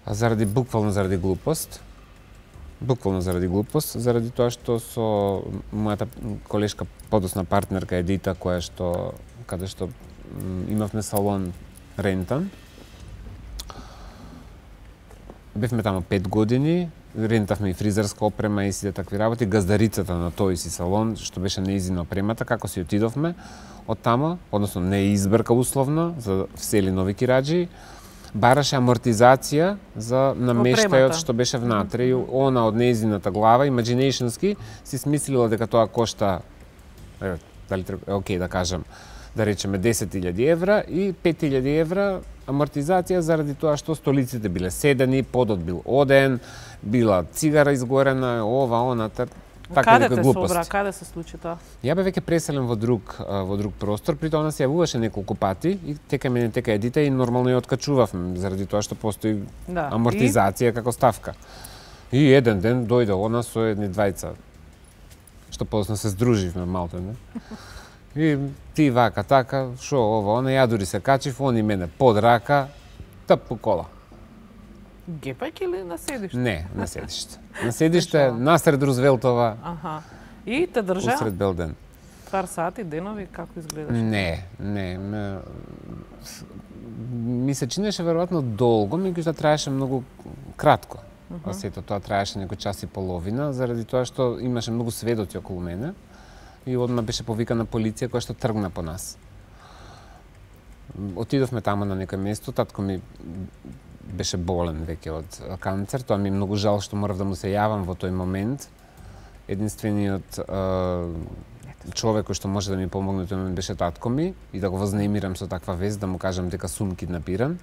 А заради буквално заради глупост. Буквално заради глупост, заради тоа што со мојата колешка подосна партнерка Едита, која што каде што м, имавме салон рентан. Бевме таму пет години, рентавме и фризерска опрема и сите такви работи, газдарицата на тој си салон, што беше неизино опремата, како си отидовме од тамо, односно не избрка условно, за всели нови кираџи, бараше амортизација за намештајот Опремата. што беше внатре и она од неизината глава, imaginationski, си смислила дека тоа кошта, еве, дали треба, е окей да кажам, да речеме десет илјади евра и пет илјади евра амортизација заради тоа што столиците биле седени, подот бил оден, била цигара изгорена, ова, она, тар, така Каде некои те глупости. собра, каде се случи тоа? Ја бе веќе преселен во друг а, во друг простор, при тоа она се јавуваше неколку пати и тека мене тека Едита и нормално ја откачувавме заради тоа што постои Да. амортизација како ставка. И еден ден дојде она со едни двајца што подоцна се здруживме малку, не? И ти вака така, шо ова, она, ја дури се качив, они мене под рака, тап по кола. Гепајќи или на седиште? Не, на седиште. На седиште, насред Рузвелтова. Аха. И те држа? Усред бел ден. Пар сати, денови, како изгледаше? Не, не. Ме... Ми се чинеше веројатно долго, меѓутоа траеше многу кратко. Uh -huh. Сето тоа траеше некој час и половина, заради тоа што имаше многу сведоци околу мене и одма беше повикана полиција која што тргна по нас. Отидовме таму на некој место, татко ми беше болен веќе од канцер, тоа ми е многу жал што морав да му се јавам во тој момент. Единствениот е, човек кој што може да ми помогне тој момент беше татко ми и да го вознемирам со таква вест, да му кажам дека сум киднапиран,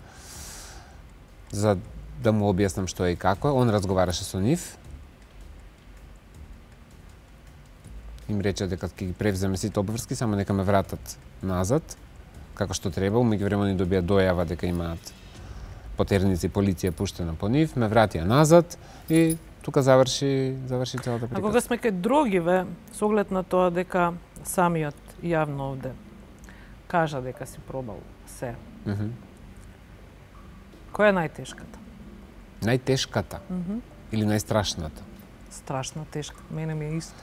за да му објаснам што е и како е. Он разговараше со нив. Им рече дека ќе ги превземе сите обврски, само нека ме вратат назад, како што треба. Меѓувреме ни добија дојава дека имаат потерници, полиција пуштена по нив, ме вратија назад и тука заврши, заврши целата приказка. А кога сме кај другиве, со оглед на тоа дека самиот јавно овде кажа дека си пробал се, Mm -hmm. која е најтешката? Најтешката? Mm -hmm. Или најстрашната? Страшна тешка, мене ми е исто.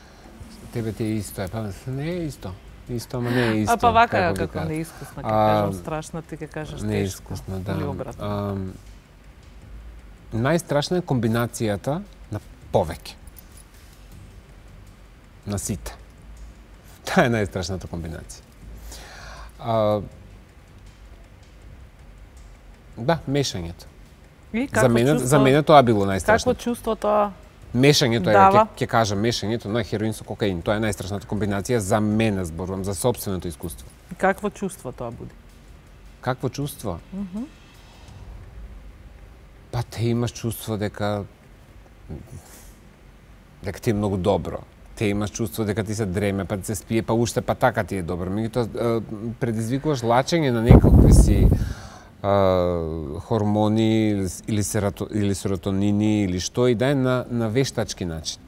Тебе ти е исто, е, па не е исто. Исто, ама не е исто. А па вака како, како како неискусна, ќе кажам страшна, ти ќе кажеш тешка. Неискусна, да. Или обратно. А, најстрашна е комбинацијата на повеќе. На сите. Таа е најстрашната комбинација. А, да, мешањето. И За мене, чувство, за мене тоа било најстрашно. Какво чувство тоа? Мешањето е, Дава. ќе кажам, мешањето на хероин со кокаин. Тоа е најстрашната комбинација за мене, зборувам, за сопственото искуство. И какво чувство тоа буди? Какво чувство? Mm -hmm. Па те имаш чувство дека дека ти е многу добро. Те имаш чувство дека ти се дреме, па ти се спие, па уште па така ти е добро. Меѓутоа предизвикуваш лачење на некакви си Uh, хормони или, серато, или серотонини или што и да е на, на вештачки начин.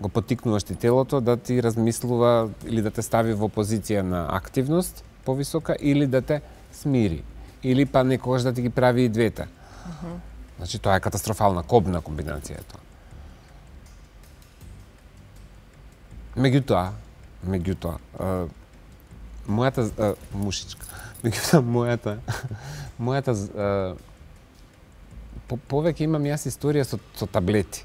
Го потикнуваш ти телото да ти размислува или да те стави во позиција на активност повисока или да те смири. Или па некогаш да ти ги прави и двете. Uh -huh. Значи тоа е катастрофална, кобна комбинација е тоа. Меѓутоа, меѓутоа, uh, мојата uh, мушичка Меѓутоа, мојата, мојата, а, по, повеќе имам јас историја со, со таблети.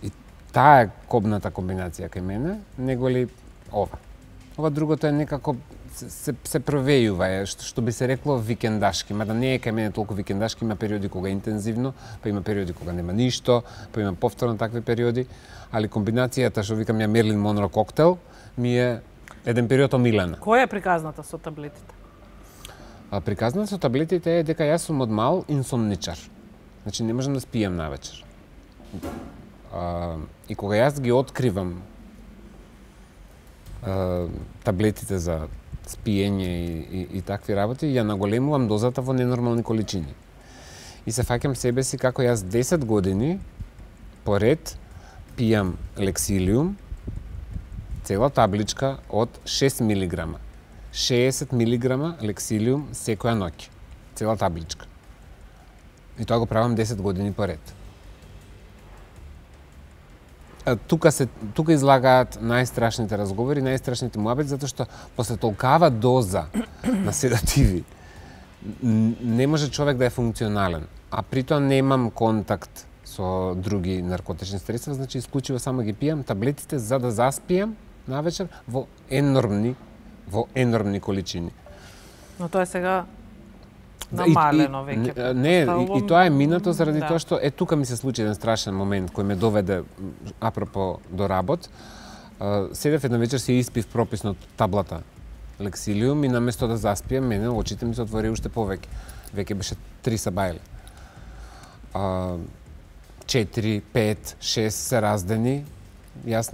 И таа е кобната комбинација кај мене, него ли ова. Ова другото е некако, се, се, се провејува, е, што, што би се рекло викендашки, мада не е кај мене толку викендашки, има периоди кога интензивно, па има периоди кога нема ништо, па има повторно такви периоди, али комбинацијата, што викам ја Мерлин Монро коктел, ми е еден период омилена. Која е приказната со таблетите? А приказната со таблетите е дека јас сум од мал инсомничар. Значи не можам да спијам навечер. А, и кога јас ги откривам а, таблетите за спиење и, и, и такви работи, ја наголемувам дозата во ненормални количини. И се фаќам себе си како јас десет години поред пијам лексилиум, цела табличка од шест милиграма. шеесет милиграма лексилиум секоја ноќ. Цела табличка. И тоа го правам десет години поред. А, тука се тука излагаат најстрашните разговори, најстрашните муабети, затоа што после толкава доза на седативи не може човек да е функционален. А притоа немам контакт со други наркотични средства, значи исклучиво само ги пијам таблетите за да заспијам навечер во енормни во енормни количини. Но тоа е сега намалено веќе. Не, и, и тоа е минато заради да. тоа што е тука ми се случи еден страшен момент кој ме доведе апропо до работ. Седев една вечер си испив прописно таблата лексилиум и наместо да заспијам, мене очите ми се отвори уште повеќе. Веќе беше три сабајли. четири, пет, шест се раздени. Јас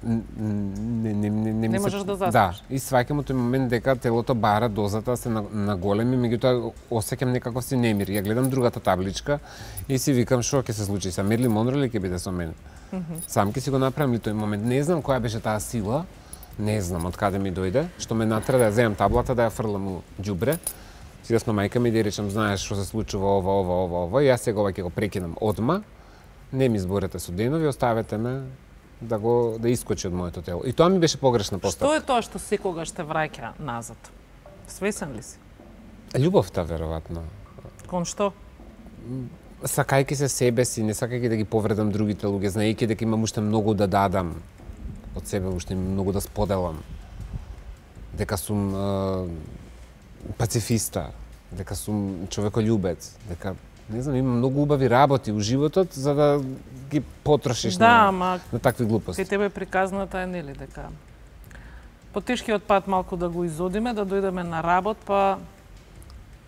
не не не не, не можеш да заспиш. Да, и сваќам тој момент дека телото бара дозата се наголеми, меѓутоа осеќам некаков си немир. Ја гледам другата табличка и си викам што ќе се случи са Мерли Монро или ќе биде со мене. Mm -hmm. Сам ќе си го направам ли тој момент. Не знам која беше таа сила, не знам од каде ми дојде, што ме натера да ја земам таблата, да ја фрлам у џубре. Сигас на мајка ми да речам, знаеш што се случува ова, ова, ова, ова, и јас сега ова ќе го прекинам одма. Не ми зборете со денови, оставете ме да го да искочи од моето тело. И тоа ми беше погрешна постапка. Што е тоа што секогаш те враќа назад? Свесен ли си? Љубовта, веројатно. Кон што? Сакајќи се себе си, не сакајќи да ги повредам другите луѓе, знаејќи дека имам уште многу да дадам од себе, уште многу да споделам. Дека сум е, пацифиста, дека сум човекољубец, дека не знам, има многу убави работи у животот за да ги потрошиш да, на, ма, на такви глупости. Кај тебе приказната е нели дека потешкиот пат малку да го изодиме, да дојдеме на работ, па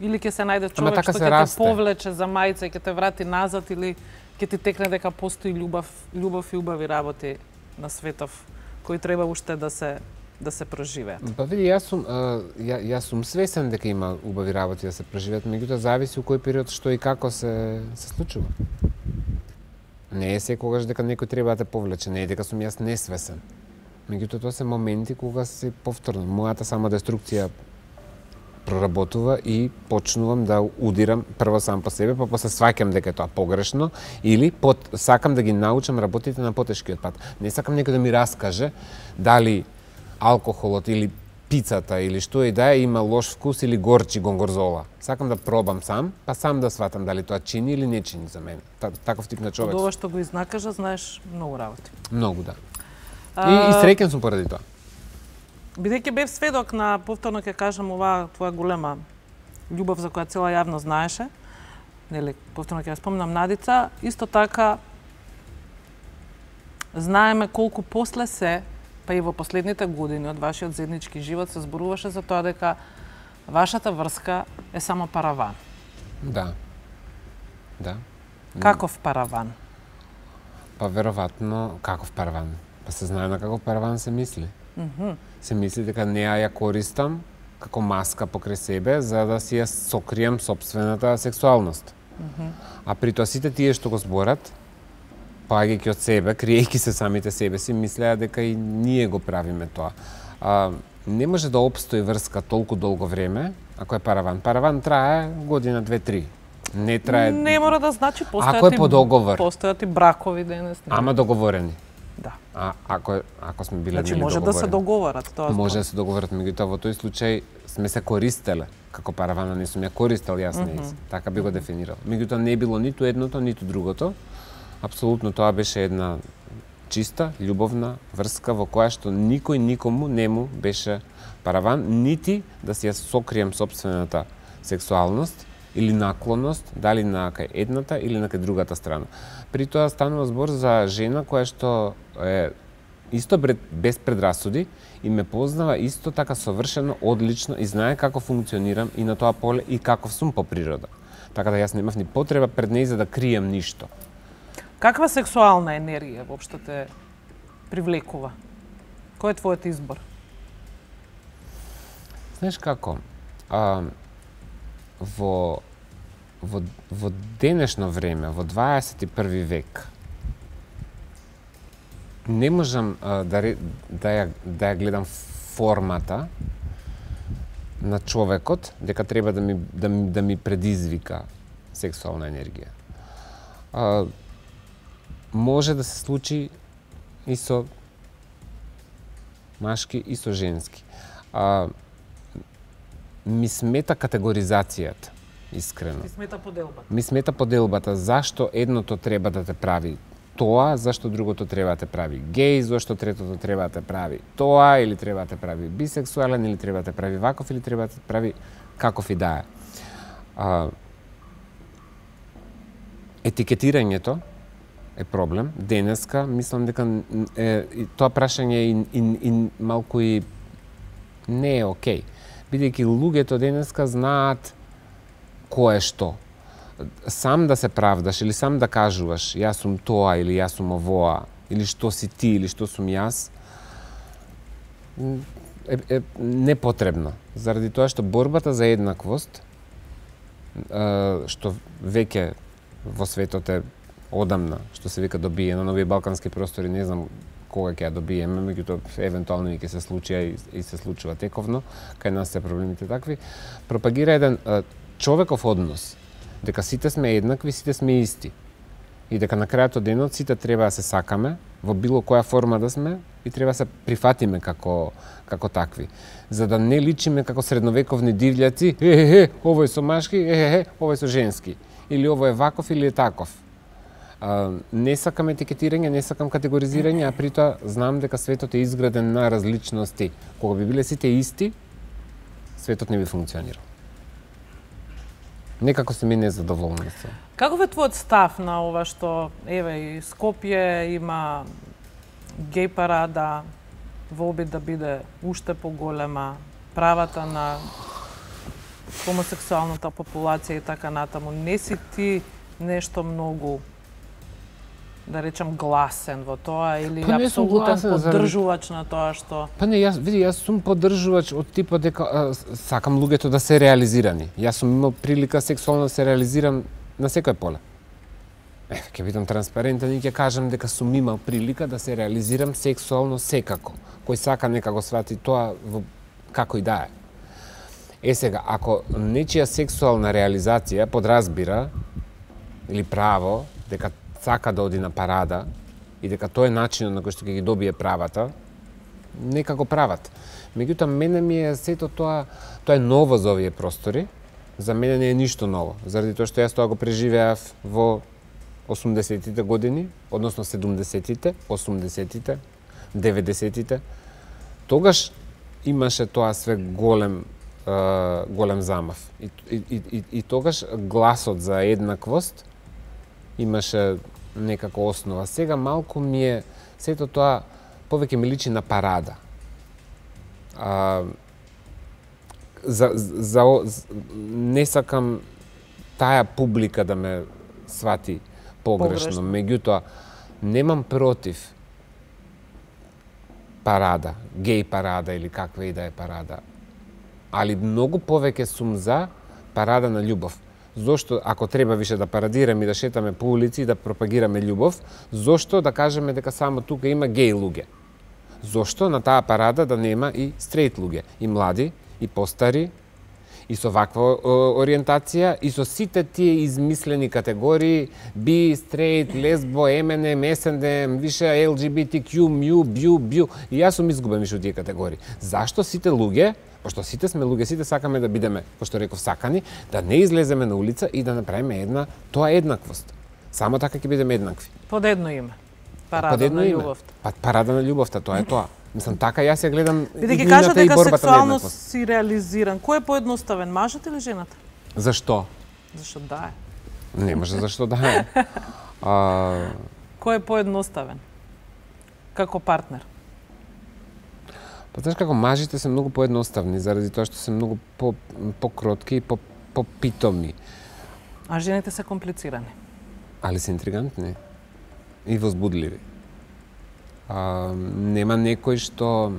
или ќе се најде човек така што се ќе расте. те повлече за мајца и ќе те врати назад, или ќе ти текне дека постои љубов, љубов и убави работи на светов кои треба уште да се да се проживеат. Па види, јас сум а, ја, јас сум свесен дека има убави работи да се преживеат, меѓутоа зависи у кој период што и како се се случува. Не е секогаш дека некој треба да те повлече, не е дека сум јас несвесен. Меѓутоа тоа се моменти кога се повторно мојата самодеструкција проработува и почнувам да удирам прво сам по себе, па после сваќам дека е тоа погрешно или под, сакам да ги научам работите на потешкиот пат. Не сакам некој да ми раскаже дали алкохолот или пицата или што и да е има лош вкус или горчи гонгорзола. Сакам да пробам сам, па сам да сватам дали тоа чини или не чини за мене. Таков тип на човек. Од ова што го изнакажа, знаеш многу работи. Многу, да. И, и среќен сум поради тоа. Бидејќи бев сведок на, повторно ќе кажам, оваа твоја голема љубов за која цела јавност знаеше, нели, повторно ќе ја спомнам Надица, исто така знаеме колку после се, па и во последните години од вашиот заеднички живот се зборуваше за тоа дека вашата врска е само параван. Да. Да. Каков параван? Па веројатно каков параван. Па се знае на каков параван се мисли. Mm -hmm. Се мисли дека не ја користам како маска покрај себе за да си ја сокрием сопствената сексуалност. Mm -hmm. А при тоа сите тие што го зборат, паѓајќи од себе, криејќи се самите себе си, мислеа дека и ние го правиме тоа. А, не може да опстои врска толку долго време ако е параван. Параван трае година, две, три. Не трае... Не мора да значи, постојат ако е по договор. Постојат и бракови денес. Не. Ама договорени. Да. А ако ако сме биле значи, може да се договорат тоа. Може да се договорат, меѓутоа во тој случај сме се користеле како паравана, не сум ја користел јас mm -hmm. нејз. Така би го дефинирал. Меѓутоа не било ниту едното, ниту другото. Апсолутно тоа беше една чиста, љубовна врска во која што никој никому не му беше параван, нити да си ја сокрием сопствената сексуалност или наклонност, дали на кај едната или на кај другата страна. При тоа станува збор за жена која што е исто без предрасуди и ме познава исто така совршено, одлично и знае како функционирам и на тоа поле и каков сум по природа. Така да јас немав ни потреба пред неј за да крием ништо. Каква сексуална енергија воопшто те привлекува? Кој е твојот избор? Знаеш како? А, во, во, во денешно време, во дваесет и први век, не можам а, да, да, ја, да ја гледам формата на човекот, дека треба да ми, да, да ми предизвика сексуална енергија. А, може да се случи и со машки и со женски. А, ми смета категоризацијата, искрено. Ти смета поделбата. Ми смета поделбата. Зашто едното треба да те прави тоа, зашто другото треба да те прави геј, зашто третото треба да те прави тоа, или треба да те прави бисексуален, или треба да те прави ваков, или треба да те прави каков и да е. А, етикетирањето е проблем. Денеска, мислам дека е, тоа прашање и, и, и малку и не е окей. Бидејќи луѓето денеска знаат кој е што. Сам да се правдаш или сам да кажуваш јас сум тоа или јас сум овоа, или што си ти, или што сум јас, е, е непотребно. Заради тоа што борбата за еднаквост, што веќе во светот е одамна, што се вика добиено, на овие балкански простори, не знам кога ќе ја добиеме, меѓутоа евентуално ќе се случи и, и се случува тековно, кај нас се проблемите такви, пропагира еден а, човеков однос, дека сите сме еднакви, сите сме исти. И дека на крајот од денот сите треба да се сакаме, во било која форма да сме, и треба да се прифатиме како, како такви. За да не личиме како средновековни дивљаци, е, е, е, овој со машки, е, е, е, овој со женски. Или овој е ваков или е таков. А, не сакам етикетирање, не сакам категоризирање, а притоа знам дека светот е изграден на различности. Кога би биле сите исти, светот не би функционирал. Некако се ми незадоволна со. Каков е твојот став на ова што, еве, и Скопје има геј парада во обид да биде уште поголема, правата на хомосексуалната популација и така натаму. Не си ти нешто многу, да речам, гласен во тоа или па апсолутен гласен, поддржувач заради... на тоа што... Па не, јас, види, јас сум поддржувач од типот дека а, сакам луѓето да се реализирани. Јас сум имал прилика сексуално да се реализирам на секој поле. Е, ќе бидам транспарентен и ќе кажам дека сум имал прилика да се реализирам сексуално секако. Кој сака нека го свати тоа во како и да е. Е сега, ако нечија сексуална реализација подразбира или право дека сака да оди на парада и дека тоа е начинот на кој што ќе ги добие правата, нека го прават. Меѓутоа, мене ми е сето тоа, тоа е ново за овие простори, за мене не е ништо ново, заради тоа што јас тоа го преживеав во осумдесетите години, односно седумдесетите, осумдесетите, деветдесетите. Тогаш имаше тоа све голем голем замав. И, и, и, и тогаш гласот за еднаквост имаше некако основа. Сега малку ми е сето тоа повеќе ми личи на парада. А, за, за, за, не сакам таа публика да ме свати погрешно. погрешно. Меѓутоа, немам против парада, геј парада или каква и да е парада. Али многу повеќе сум за парада на љубов. Зошто, ако треба више да парадираме и да шетаме по улици и да пропагираме љубов, зошто да кажеме дека само тука има геј луѓе? Зошто на таа парада да нема и стрейт луѓе, и млади, и постари, и со ваква ориентација, и со сите тие измислени категории, би, стрейт, лесбо, ем ен ем, ес ен ем, више ел џи би ти кју, мју, бју, бју, и јас сум изгубен више од тие категории. Зашто сите луѓе, пошто сите сме луѓе, сите сакаме да бидеме, пошто реков, сакани, да не излеземе на улица и да направиме една, тоа еднаквост. Само така ќе бидеме еднакви. Под едно име. Парада Под едно на име. љубовта. Па, парада на љубовта, тоа е тоа. Мислам, така јас ја гледам Бидејќи иднината кажа и дека борбата на сексуално еднаквост. си реализиран, кој е поедноставен, мажот или жената? Зашто? Зашто да е. Не може зашто да е. А... Кој е поедноставен? Како партнер? Па знаеш како мажите се многу поедноставни заради тоа што се многу по покротки и по попитоми. А жените се комплицирани. Али се интригантни и возбудливи. А, нема некој што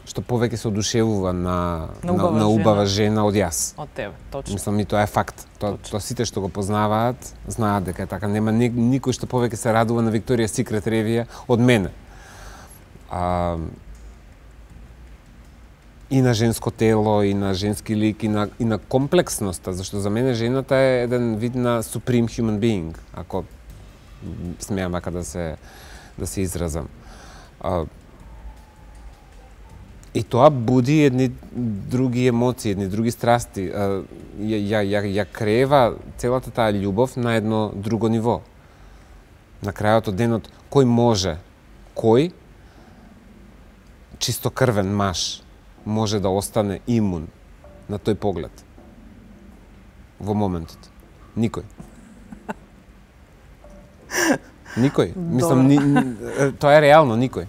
што повеќе се одушевува на на убава, на, на убава жена. жена од јас. Од тебе, точно. Мислам, и тоа е факт. Тоа то сите што го познаваат знаат дека е така. Нема ни, никој што повеќе се радува на Викторија Секрет ревија од мене. А, и на женско тело, и на женски лик, и на, и на комплексноста, зашто за мене жената е еден вид на supreme human being, ако смеам вака да се да се изразам. А, и тоа буди едни други емоции, едни други страсти. А, ја, ја, ја, ја крева целата таа љубов на едно друго ниво. На крајот од денот, кој може, кој чистокрвен маж може да остане имун на тој поглед во моментот? Никој. Никој. Мислам, ни, тоа е реално, никој.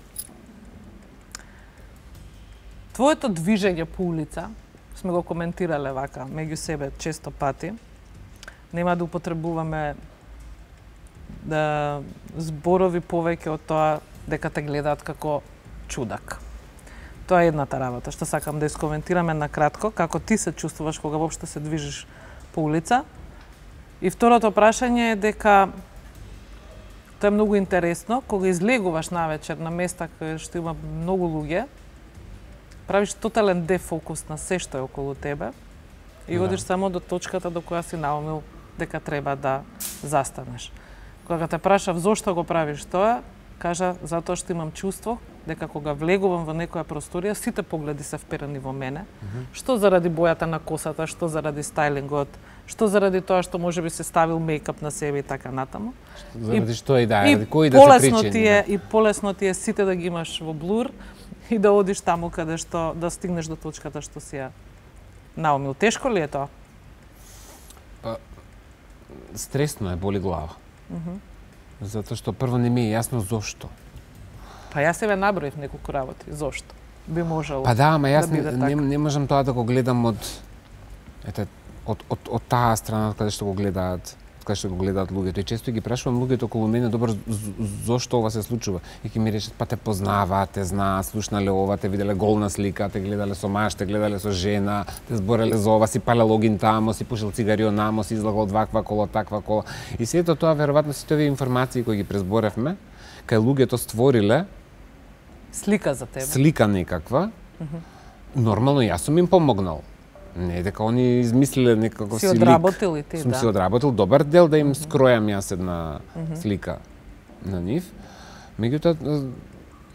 Твоето движење по улица, сме го коментирале вака, меѓу себе често пати, нема да употребуваме да зборови повеќе од тоа дека те гледаат како чудак. Тоа е едната работа што сакам да искоментираме на кратко, како ти се чувствуваш кога воопшто се движиш по улица. И второто прашање е дека тоа е многу интересно, кога излегуваш навечер на места каде што има многу луѓе, правиш тотален дефокус на се што е околу тебе и одиш да. само до точката до која си наумил дека треба да застанеш. Кога те прашав зошто го правиш тоа, кажа затоа што имам чувство дека кога влегувам во некоја просторија, сите погледи се вперени во мене. Mm-hmm. Што заради бојата на косата, што заради стајлингот, што заради тоа што можеби се ставил мејкап на себе и така натаму. Заради и, што и да, и ради кои да се причини. Ти е, и полесно ти е сите да ги имаш во блур и да одиш таму каде што да стигнеш до точката што си ја наумил. Тешко ли е тоа? Па, стресно е, боли глава. Mm-hmm. Затоа што прво не ми е јасно зошто. Па јас себе наброив неколку работи. Зошто? Би можело Па да, ама јас да биде не, не, не можам тоа да го гледам од ете од од од таа страна каде што го гледаат, каде што го гледаат луѓето. И често ги прашувам луѓето околу мене, добро, зошто ова се случува? И ќе ми речат, па те познаваат, те знаат, слушнале ова, те виделе голна слика, те гледале со маж, те гледале со жена, те збореле за ова, си палел огин тамо, си пушил цигарио намо, си излагал од ваква кола, таква кола. И сето тоа веројатно сите овие информации кои ги презборевме, кај луѓето створиле слика за тебе. Слика некаква. Mm-hmm. Нормално јас сум им помогнал. Не дека они измислиле некако си си одработил лик. И ти, сум да. си одработил добар дел да им Mm-hmm. скројам јас една mm-hmm. слика на нив. Меѓутоа,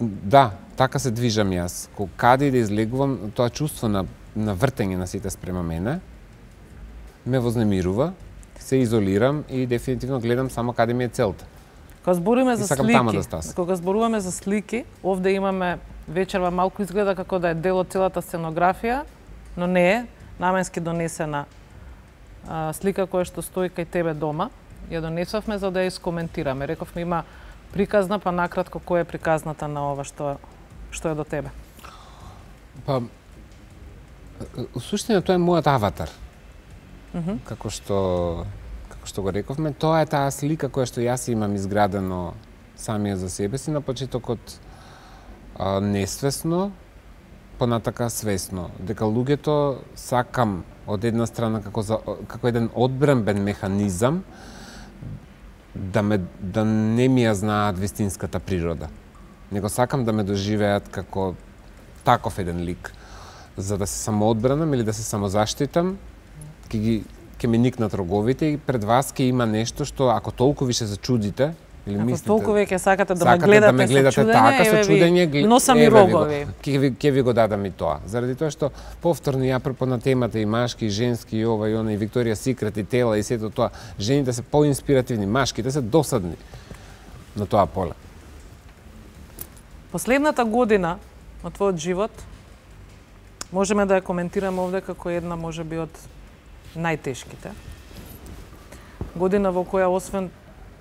да, така се движам јас. Каде и да излегувам, тоа чувство на, на вртење на сите спрема мене ме вознемирува, се изолирам и дефинитивно гледам само каде ми е целта. Кога збориме за слики, да кога зборуваме за слики, овде имаме вечерва малку изгледа како да е дел од целата сценографија, но не е, наменски донесена а, слика која што стои кај тебе дома. Ја донесовме за да ја искоментираме. Рековме има приказна, па накратко која е приказната на ова што што е до тебе. Па суштина тоа е мојот аватар. Mm-hmm. Како што што го рековме, тоа е таа слика која што јас имам изградено самија за себе си на почетокот а, несвесно, понатака свесно, дека луѓето сакам од една страна како за, како еден одбранбен механизам да ме да не ми ја знаат вистинската природа. Него сакам да ме доживеат како таков еден лик, за да се самоодбранам или да се самозаштитам, ќе ги ќе ми никнат роговите и пред вас ќе има нешто што ако толку више се чудите или ако мислите, толку веќе сакате да сакате ме гледате, да ме гледате со чудење, така, со чудење, ви носам и рогови. Ќе ви ќе ви го дадам и тоа. Заради тоа што повторно ја апропо на темата и машки и женски и ова и она и Викторија Секрет и тела и сето тоа, жените се поинспиративни, машките се досадни на тоа поле. Последната година од твојот живот можеме да ја коментираме овде како една можеби од најтешките. Година во која освен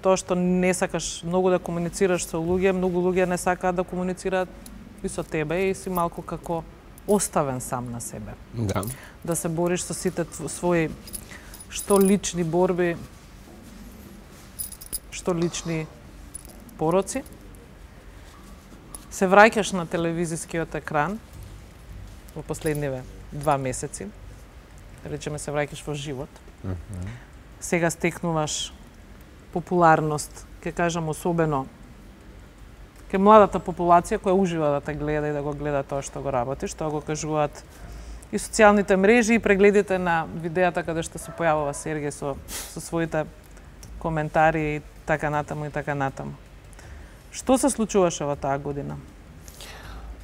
тоа што не сакаш многу да комуницираш со луѓе, многу луѓе не сакаат да комуницираат и со тебе и си малку како оставен сам на себе. Да. Да се бориш со сите своји што лични борби, што лични пороци. Се враќаш на телевизискиот екран во последниве два месеци. Речеме се враќаш во живот. Mm-hmm. Сега стекнуваш популарност, ќе кажам особено кај младата популација која ужива да те гледа и да го гледа тоа што го работиш, тоа го кажуваат и социјалните мрежи и прегледите на видеата каде што се појавува Сергеј со со своите коментари и така натаму и така натаму. Што се случуваше во таа година?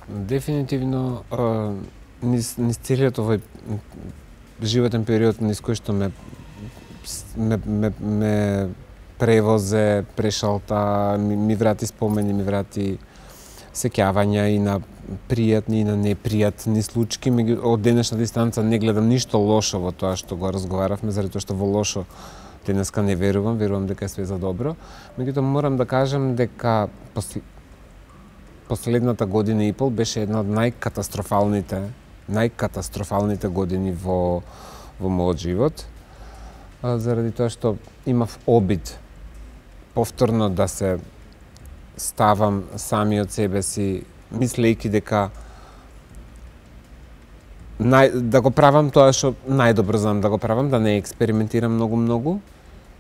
Дефинитивно низ, низ целиот овој животен период низ кој што ме ме, ме, ме превозе, прешалта, ми, ми врати спомени, ми врати сеќавања и на пријатни и на непријатни случаи. Од денешна дистанца не гледам ништо лошо во тоа што го разговаравме, заради тоа што во лошо денеска не верувам, верувам дека е све за добро. Меѓутоа морам да кажам дека посл... последната година и пол беше една од најкатастрофалните, најкатастрофалните години во во мојот живот, заради тоа што имав обид повторно да се ставам самиот себе си, мислејќи дека нај, да го правам тоа што најдобро знам да го правам, да не експериментирам многу-многу,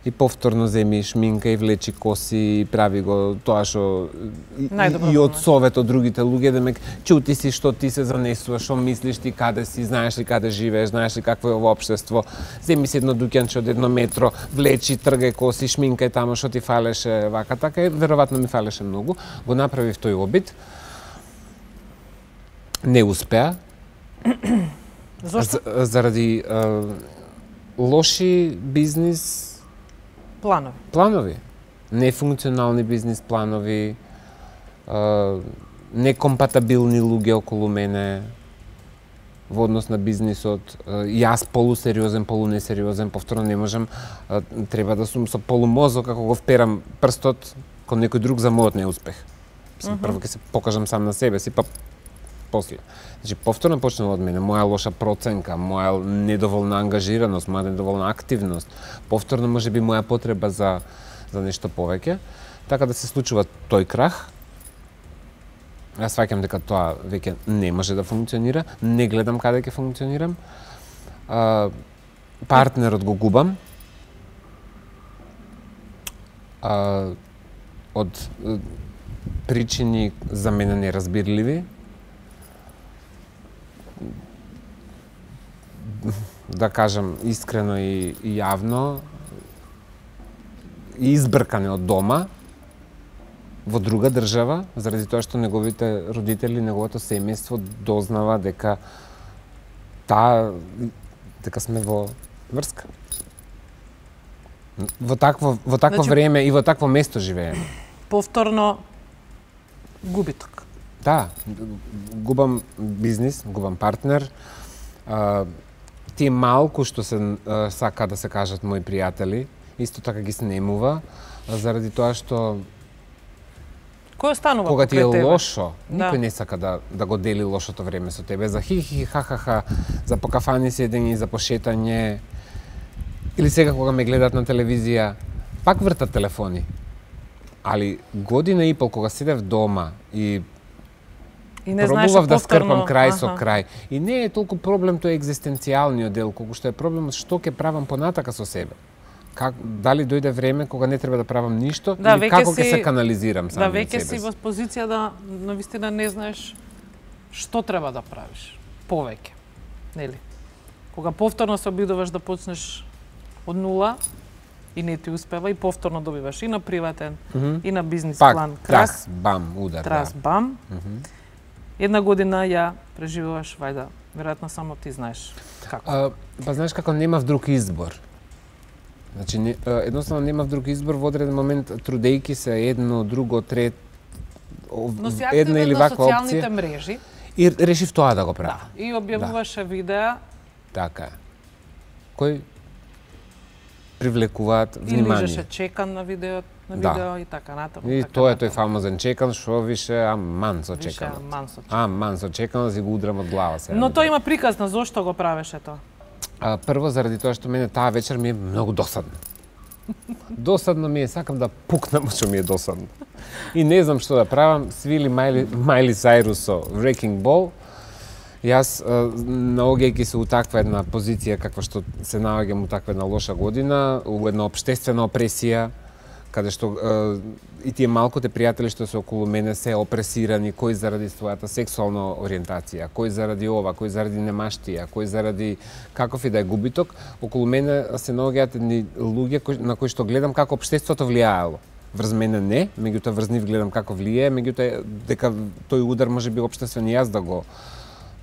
и повторно земи шминка и влечи коси и прави го тоа што и, и од совет од другите луѓе, демек чути си што ти се занесуваш, што мислиш ти, каде си, знаеш ли каде живееш, знаеш ли какво е ова општество, земи си едно дуќанче од едно метро, влечи, тргај коси, шминкај тамо што ти фалеше, вака така, и веројатно ми фалеше многу. Го направив тој обид. Не успеа. Зошто? Заради а, лоши бизнис планови. Планови. Нефункционални бизнис планови, а, некомпатабилни луѓе околу мене во однос на бизнисот. А, јас полусериозен, полунесериозен, повторно не можам, а, треба да сум со полумозок, како го вперам прстот кон некој друг за мојот неуспех. Uh-huh. Прво ќе се покажам сам на себе си, па после. Значи, повторно почнува од мене, моја лоша проценка, моја недоволна ангажираност, моја недоволна активност, повторно може би моја потреба за, за нешто повеќе, така да се случува тој крах. Јас сваќам дека тоа веќе не може да функционира, не гледам каде ќе функционирам, а, партнерот го губам, а, од причини за мене неразбирливи, да кажам искрено и, и јавно, и избркане од дома во друга држава, заради тоа што неговите родители, неговото семејство дознава дека таа дека сме во врска. Во такво во такво значи, време и во такво место живееме. Повторно губиток. Да, губам бизнис, губам партнер. А, тие малку што се а, сака да се кажат мои пријатели, исто така ги снемува, заради тоа што кој останува кога ти е тебе? лошо, да. Никој не сака да да го дели лошото време со тебе, за хи-хи, ха-ха-ха, за покафани седење, за пошетање, или сега кога ме гледат на телевизија, пак вртат телефони. Али година и пол кога седев дома и И не пробував да скрпам крај аха. со крај. И не е толку проблем тој екзистенцијалниот дел, колку што е проблемот што ќе правам понатака со себе. Как, дали дојде време кога не треба да правам ништо, да, или како си, ќе се канализирам сам да, од себе. Да, веќе си во позиција да навистина не знаеш што треба да правиш повеќе. Нели? Кога повторно се обидуваш да почнеш од нула и не ти успева, и повторно добиваш и на приватен, mm -hmm. и на бизнис Пак, план крах. Трас, бам, удар, трас, да. бам. Mm -hmm. Една година ја преживуваш, вајда, веројатно само ти знаеш како. А, па знаеш како немав друг избор. Значи, не, едноставно немав друг избор, во одреден момент трудејки се едно, друго, трет, Но си една или на ваква социјалните опција. мрежи. И решив тоа да го правам. Да, и објавуваше да. видеа. Така. Кој привлекуваат внимание. И лижеше чекан на видео, на да. видео и така натаму. И така тоа е натаму. тој фамозен чекан, што више аман со чекан. Више аман со чекан. Аман со чекан, да си го удрам од глава сега. Но тоа има приказ на зошто го правеше тоа. А, прво заради тоа што мене таа вечер ми е многу досадно. Досадно ми е, сакам да пукнам што ми е досадно. И не знам што да правам, свили Майли, Майли Сайрус со Wrecking Ball. Јас, наоѓајќи се у таква една позиција каква што се наоѓам у таква една лоша година, у една општествена опресија, каде што е, и тие малките пријатели што се околу мене се опресирани, кој заради својата сексуална ориентација, кој заради ова, кој заради немаштија, кој заради каков и да е губиток, околу мене се наоѓаат едни луѓе кои, на кои што гледам како општеството влијаело. Врз мене не, меѓутоа врз нив гледам како влијае, меѓутоа дека тој удар може би општествен и јас да го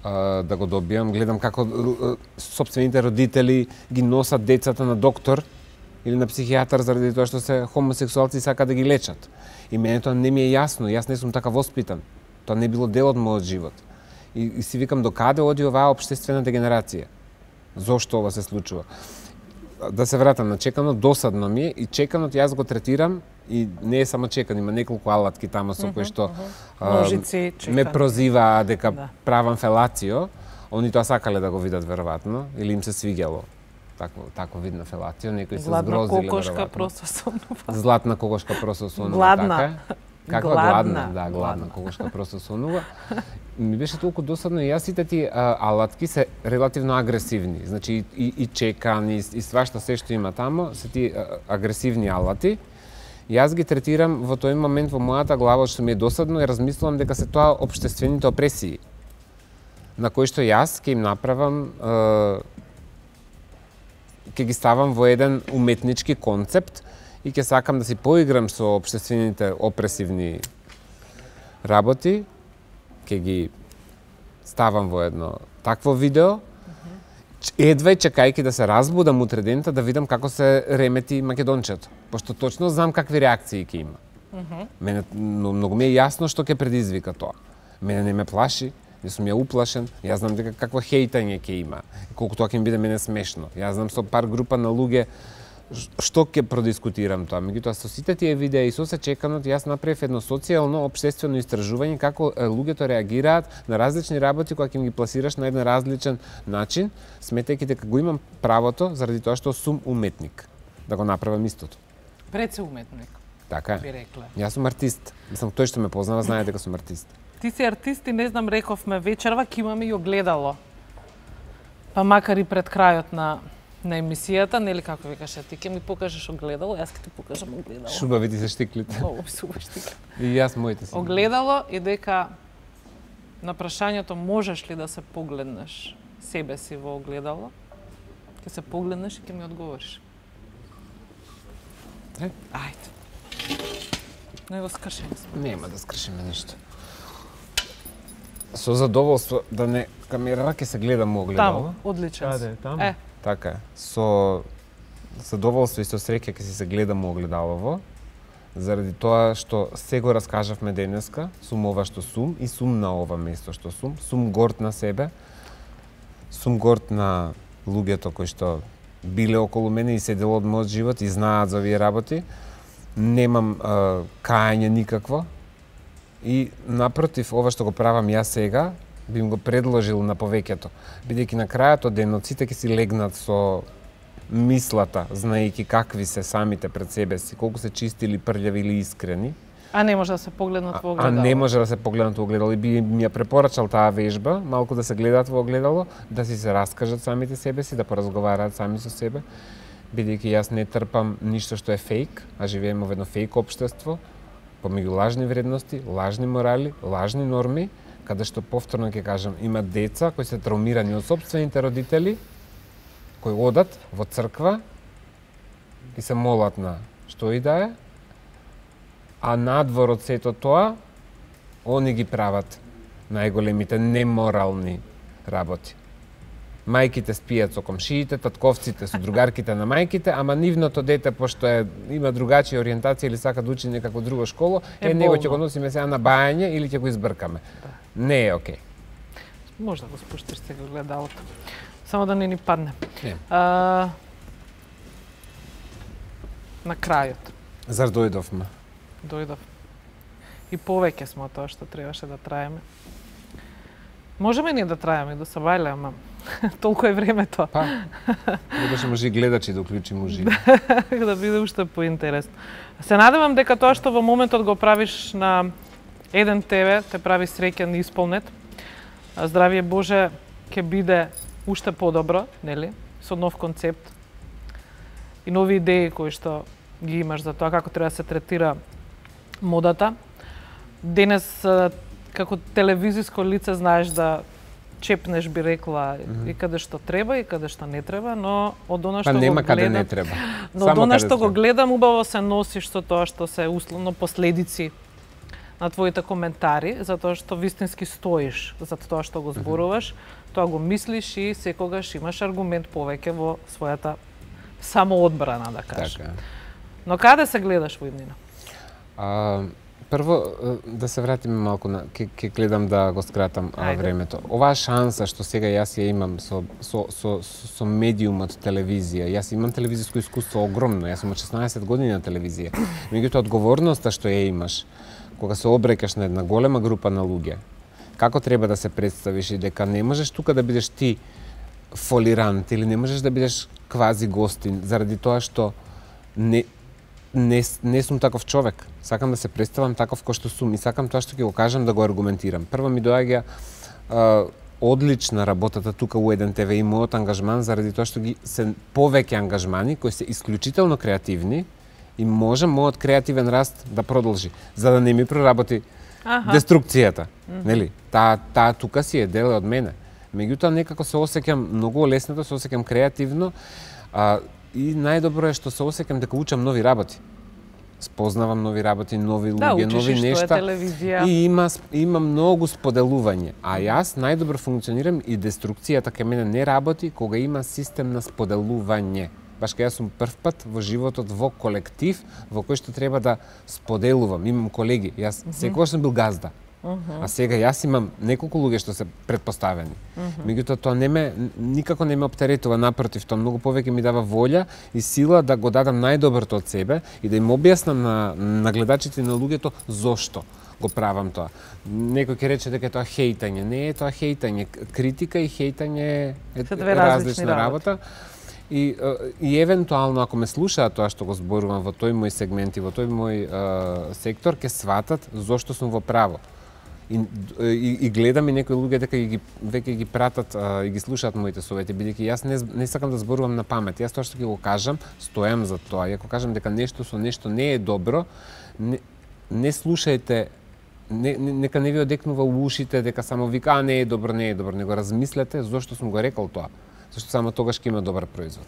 да го добијам, гледам како сопствените родители ги носат децата на доктор или на психијатар заради тоа што се хомосексуалци и сака да ги лечат. И мене тоа не ми е јасно, јас не сум така воспитан. Тоа не било дел од мојот живот. И, и си викам докаде оди оваа општествена дегенерација? Зошто ова се случува? Да се вратам на чеканот, досадно ми е и чеканот јас го третирам и не е само чекан, има неколку алатки тамо со кои што Ножици, ме прозиваа дека да. правам фелацио. Они тоа сакале да го видат веројатно или им се свиѓало. такво такво вид на фелација, некои се Гладна згрозиле кокошка веројатно. просто сонува. Златна кокошка просто сонува, Гладна. така е. Каква Гладна. гладна, да, гладна, Гладна. кокошка просто сонува. Ми беше толку досадно и јас сите ти а, алатки се релативно агресивни. Значи и, и, и чекан и, и свашта се што има тамо се ти а, агресивни алати. Јас ги третирам во тој момент во мојата глава што ми е досадно и размислувам дека се тоа општествените опресии на кои што јас ќе им направам е, ќе ги ставам во еден уметнички концепт и ќе сакам да си поиграм со општествените опресивни работи, ќе ги ставам во едно такво видео, едва и чекајќи да се разбудам утре дента да видам како се ремети македончето, пошто точно знам какви реакции ќе има. Mm -hmm. Мене многу ми е јасно што ќе предизвика тоа. Мене не ме плаши, не сум ја уплашен, јас знам дека какво хејтање ќе има, колку тоа ќе ми биде мене смешно. Јас знам со пар група на луѓе што ќе продискутирам тоа. Меѓутоа со сите тие видеа и со се чеканот јас направив едно социјално општествено истражување како луѓето реагираат на различни работи кога ќе им ги пласираш на еден различен начин, сметајќи дека го имам правото заради тоа што сум уметник да го направам истото. Пред се уметник. Така би е. рекле. Јас сум артист. Мислам тој што ме познава знае дека сум артист. Ти си артист и не знам, рековме вечерва ќе имаме и огледало. Па макар и пред крајот на на емисијата, нели како викаше, ти ќе ми покажеш огледало, јас ќе ти покажам огледало. Шубави ти се штиклите. Много супер штиклите. И јас моите си. Огледало и дека на прашањето можеш ли да се погледнеш себе си во огледало, ќе се погледнеш и ќе ми одговориш. Е? Ајде. Не го скршиме. Нема да скршиме ништо. Со задоволство да не камерава ќе се гледам огледало. Таму, одличен. Каде, таму? Е, Така е. Со задоволство и со среќа ќе си се гледам огледалово, заради тоа што се го раскажавме денеска, сум ова што сум и сум на ова место што сум. Сум горд на себе, сум горд на луѓето кои што биле околу мене и седело од мојот живот и знаат за овие работи. Немам а, кајање никакво и напротив, ова што го правам јас сега, би им го предложил на повеќето, бидејќи на крајот од денот сите ќе си легнат со мислата, знаејќи какви се самите пред себе си, колку се чисти или прљави или искрени. а не може да се погледнат во А огледало. не може да се погледнат во огледало и би ми ја препорачал таа вежба, малку да се гледаат во огледало, да си се раскажат самите себе си, да поразговараат сами со себе, бидејќи јас не трпам ништо што е фейк, а живееме во едно фейк општество, помеѓу лажни вредности, лажни морали, лажни норми, каде што повторно ќе кажам, има деца кои се травмирани од сопствените родители, кои одат во црква и се молат на што и да е, а надвор од сето тоа, они ги прават најголемите неморални работи. Мајките спијат со комшиите, татковците со другарките на мајките, ама нивното дете, пошто е, има другачија ориентација или сака да учи некако друго школо, е, Е, него болно. ќе го носиме сега на бајање или ќе го избркаме. Не е окей. Може да го спуштиш сега огледалото. Само да не ни падне. Не. А, на крајот Зар дојдовме? дојдов. И повеќе сме од тоа што требаше да траеме. Можеме ние да траеме и да се бајле, ама толку е времето. Па, требаше може и гледачи да уклучиме уживо. Да биде уште поинтересно. Се надевам дека тоа што во моментот го правиш на еден Те Ве те прави среќен и исполнет. А здравие Боже ќе биде уште подобро, нели? Со нов концепт и нови идеи кои што ги имаш за тоа како треба да се третира модата. Денес а, како телевизиско лице знаеш да чепнеш, би рекла, mm-hmm. и каде што треба и каде што не треба, но од она Па што нема го каде гледам, не треба. но Само од она каде што го треба. гледам, убаво се носиш со тоа што се условно последици на твоите коментари, затоа што вистински стоиш за тоа што го зборуваш, тоа го мислиш и секогаш имаш аргумент повеќе во својата самоодбрана, да кажам. Така. Но каде се гледаш во иднина? А, прво е, да се вратиме малку на ќе ќе гледам да го скратам а, Ајде. времето. Оваа шанса што сега јас ја имам со со со со медиумот телевизија. Јас имам телевизиско искуство огромно. Јас сум од шеснаесет години на телевизија. Меѓутоа одговорноста што ја имаш кога се обрекаш на една голема група на луѓе, како треба да се представиш и дека не можеш тука да бидеш ти фолирант или не можеш да бидеш квази гостин, заради тоа што не, не, не сум таков човек. Сакам да се представам таков кој што сум и сакам тоа што ќе го кажам да го аргументирам. Прво ми доаѓа а, одлична работата тука у еден те ве и мојот ангажман, заради тоа што ги се повеќе ангажмани кои се исклучително креативни и може мојот креативен раст да продолжи, за да не ми проработи Аха. деструкцијата. Mm -hmm. Нели? Таа та тука си е дел од мене. Меѓутоа некако се осеќам многу лесно, се осеќам креативно, а, и најдобро е што се осеќам дека учам нови работи. Спознавам нови работи, нови да, луѓе, нови нешта. И има има многу споделување. А јас најдобро функционирам и деструкцијата кај мене не работи кога има систем на споделување. Баш кога јас сум прв пат во животот во колектив во кој што треба да споделувам. Имам колеги, јас mm -hmm. секогаш сум бил газда. Uh -huh. А сега јас имам неколку луѓе што се претпоставени. Uh -huh. Меѓутоа тоа не ме никако не ме оптеретува, напротив, тоа многу повеќе ми дава волја и сила да го дадам најдоброто од себе и да им објаснам на, на гледачите и на луѓето зошто го правам тоа. Некој ќе рече дека тоа хейтање, не е тоа хейтање, критика и хейтање е различна работа. работа. И, и евентуално ако ме слушаат тоа што го зборувам во тој мој сегмент и во тој мој uh, сектор, ќе сватат зошто сум во право. И, и, и гледам и некои луѓе дека ги веќе ги пратат а, и ги слушаат моите совети, бидејќи јас не, не сакам да зборувам на памет. Јас тоа што ќе го кажам, стојам за тоа. И ако кажам дека нешто со нешто не е добро, не, не слушајте, не, не, нека не ви одекнува у ушите дека само вика а не е добро, не е добро, него размислете зошто сум го рекол тоа. Зашто само тогаш ќе има добар производ.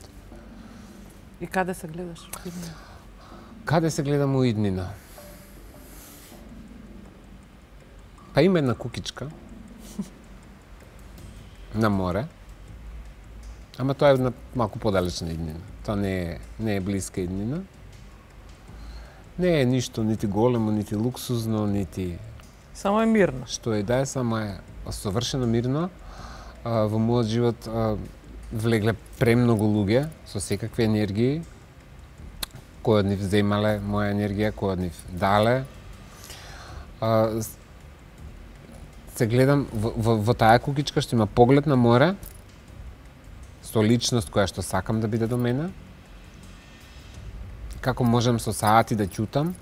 И каде се гледаш? Каде се гледам у иднина? Па има една кукичка на море, ама тоа е една малку подалечна иднина. Тоа не е, не е блиска иднина. Не е ништо нити големо, нити луксузно, нити... Само е мирно. Што е да е, само е совршено мирно. А, во мојот живот а, влегле премногу луѓе со секакви енергии. Кој од нив земале моја енергија, кој од нив дале. А, се гледам во, во, во таа кукичка што има поглед на море, со личност која што сакам да биде до мене, како можам со саати да ќутам,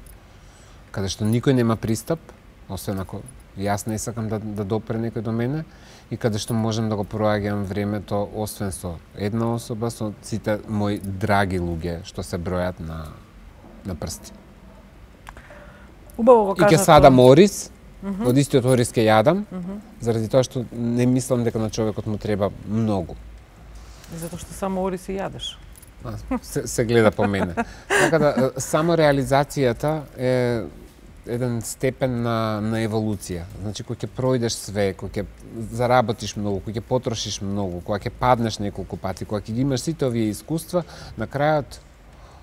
каде што никој нема пристап, освен ако јас не сакам да, да допре некој до мене, и каде што можам да го проаѓам времето, освен со една особа, со сите мои драги луѓе што се бројат на, на прсти. Убаво го кажа. И ќе садам ориз, Uh -huh. од истиот ориз ќе јадам, uh -huh. заради тоа што не мислам дека на човекот му треба многу. Затоа што само ориз и јадеш. Се, се гледа по мене. Така да, само реализацијата е еден степен на, на еволуција. Значи, кој ќе пројдеш све, кој ќе заработиш многу, кој ќе потрошиш многу, кој ќе паднеш неколку пати, кој ќе ги имаш сите овие искуства, на крајот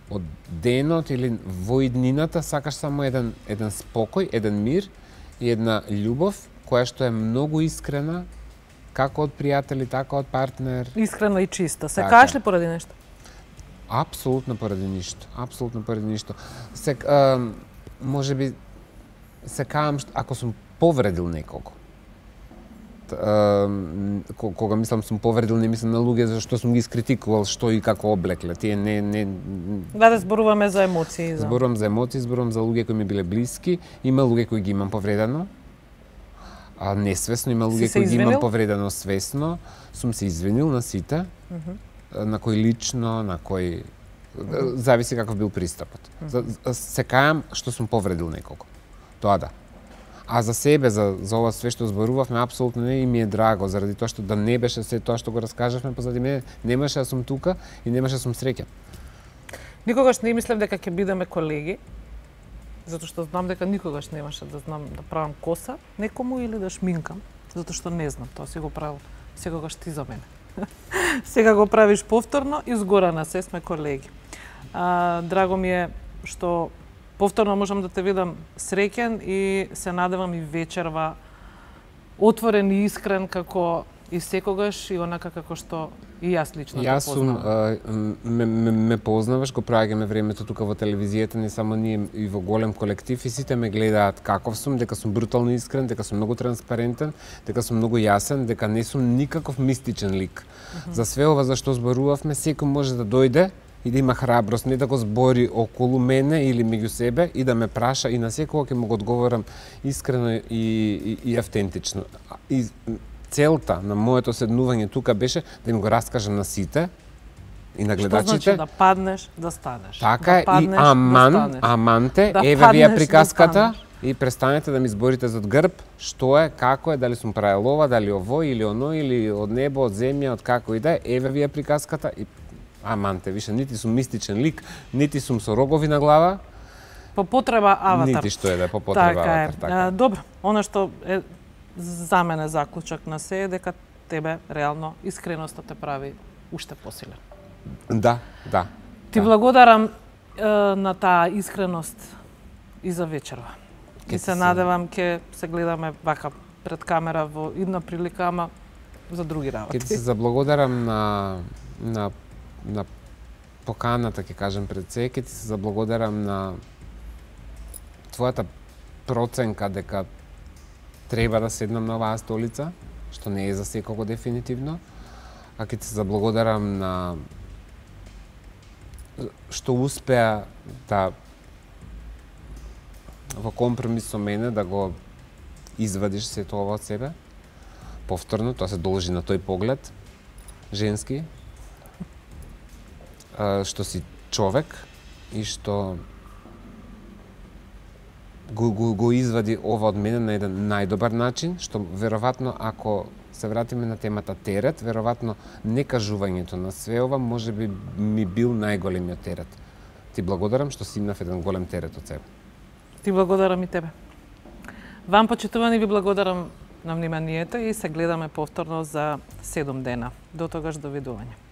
од денот или во иднината сакаш само еден, еден спокој, еден мир, и една љубов која што е многу искрена, како од пријатели, така од партнер. Искрена и чиста. Се каеш ли поради нешто? Апсолутно поради ништо. Апсолутно поради ништо. Се, а, може би, се каам ако сум повредил некого. А, кога мислам сум повредил, не мислам на луѓе зашто сум ги искритикувал што и како облекле. Тие не не Да, да зборуваме за емоции, за. Зборувам за емоции, зборувам за луѓе кои ми биле блиски, има луѓе кои ги имам повредено. А несвесно, има луѓе кои ги имам повредено свесно. Сум се извинил на сите. Uh -huh. На кој лично, на кој uh -huh. зависи каков бил пристапот. Uh -huh. Се кајам што сум повредил некого. Тоа да. А за себе, за, за ова све што зборувавме, апсолутно не и ми е драго, заради тоа што да не беше се тоа што го раскажавме позади мене, немаше да сум тука и немаше да сум среќен. Никогаш не мислев дека ќе бидеме колеги, затоа што знам дека никогаш немаше да знам да правам коса некому или да шминкам, затоа што не знам, тоа си го правил секогаш ти за мене. Сега го правиш повторно и згора се сме колеги. А, драго ми е што повторно можам да те видам среќен и се надевам и вечерва отворен и искрен како и секогаш и онака како што и јас лично те Јас сум, познавам. ме, ме, ме познаваш, го праќаме времето тука во телевизијата, не само ние и во голем колектив, и сите ме гледаат каков сум, дека сум брутално искрен, дека сум многу транспарентен, дека сум многу јасен, дека не сум никаков мистичен лик. Mm -hmm. За све ова за што зборувавме, секој може да дојде и да има храброст, не да го збори околу мене или меѓу себе и да ме праша, и на секој ќе му го одговорам искрено и, и, и автентично. И целта на моето седнување тука беше да им го раскажам на сите и на гледачите. Што значи да паднеш, да станеш. Така да е, паднеш, и аман, да станеш. аманте, да еве вие паднеш, приказката, да и престанете да ми зборите зад грб што е, како е, дали сум правил ова, дали ово или оно, или од небо, од земја, од како и да е, еве вие приказката и аманте, више нити сум мистичен лик, нити сум со рогови на глава. По потреба аватар. Нити што е да е по потреба така аватар. Е. Така. А, добро, она што е за мене заклучок на се е дека тебе реално искреноста те прави уште посилен. Да, да. Ти да. благодарам е, на таа искреност и за вечерва. Ке И се се- надевам ќе се гледаме вака пред камера во идна прилика, ама за други работи. Ке ти се заблагодарам на, на, на поканата, ќе кажем пред се, ке ти се заблагодарам на твојата проценка дека треба да седнам на оваа столица, што не е за секого дефинитивно, а ќе ти се заблагодарам на што успеа да во компромис со мене да го извадиш сето ова од себе. Повторно, тоа се должи на тој поглед, женски, а, што си човек и што го, го, го извади ова од мене на еден најдобар начин, што веројатно ако се вратиме на темата терет, веројатно некажувањето на све ова може би ми бил најголемиот терет. Ти благодарам што си имав еден голем терет од себе. Ти благодарам и тебе. Вам, почитувани, ви благодарам на вниманието и се гледаме повторно за седум дена. До тогаш, довидување.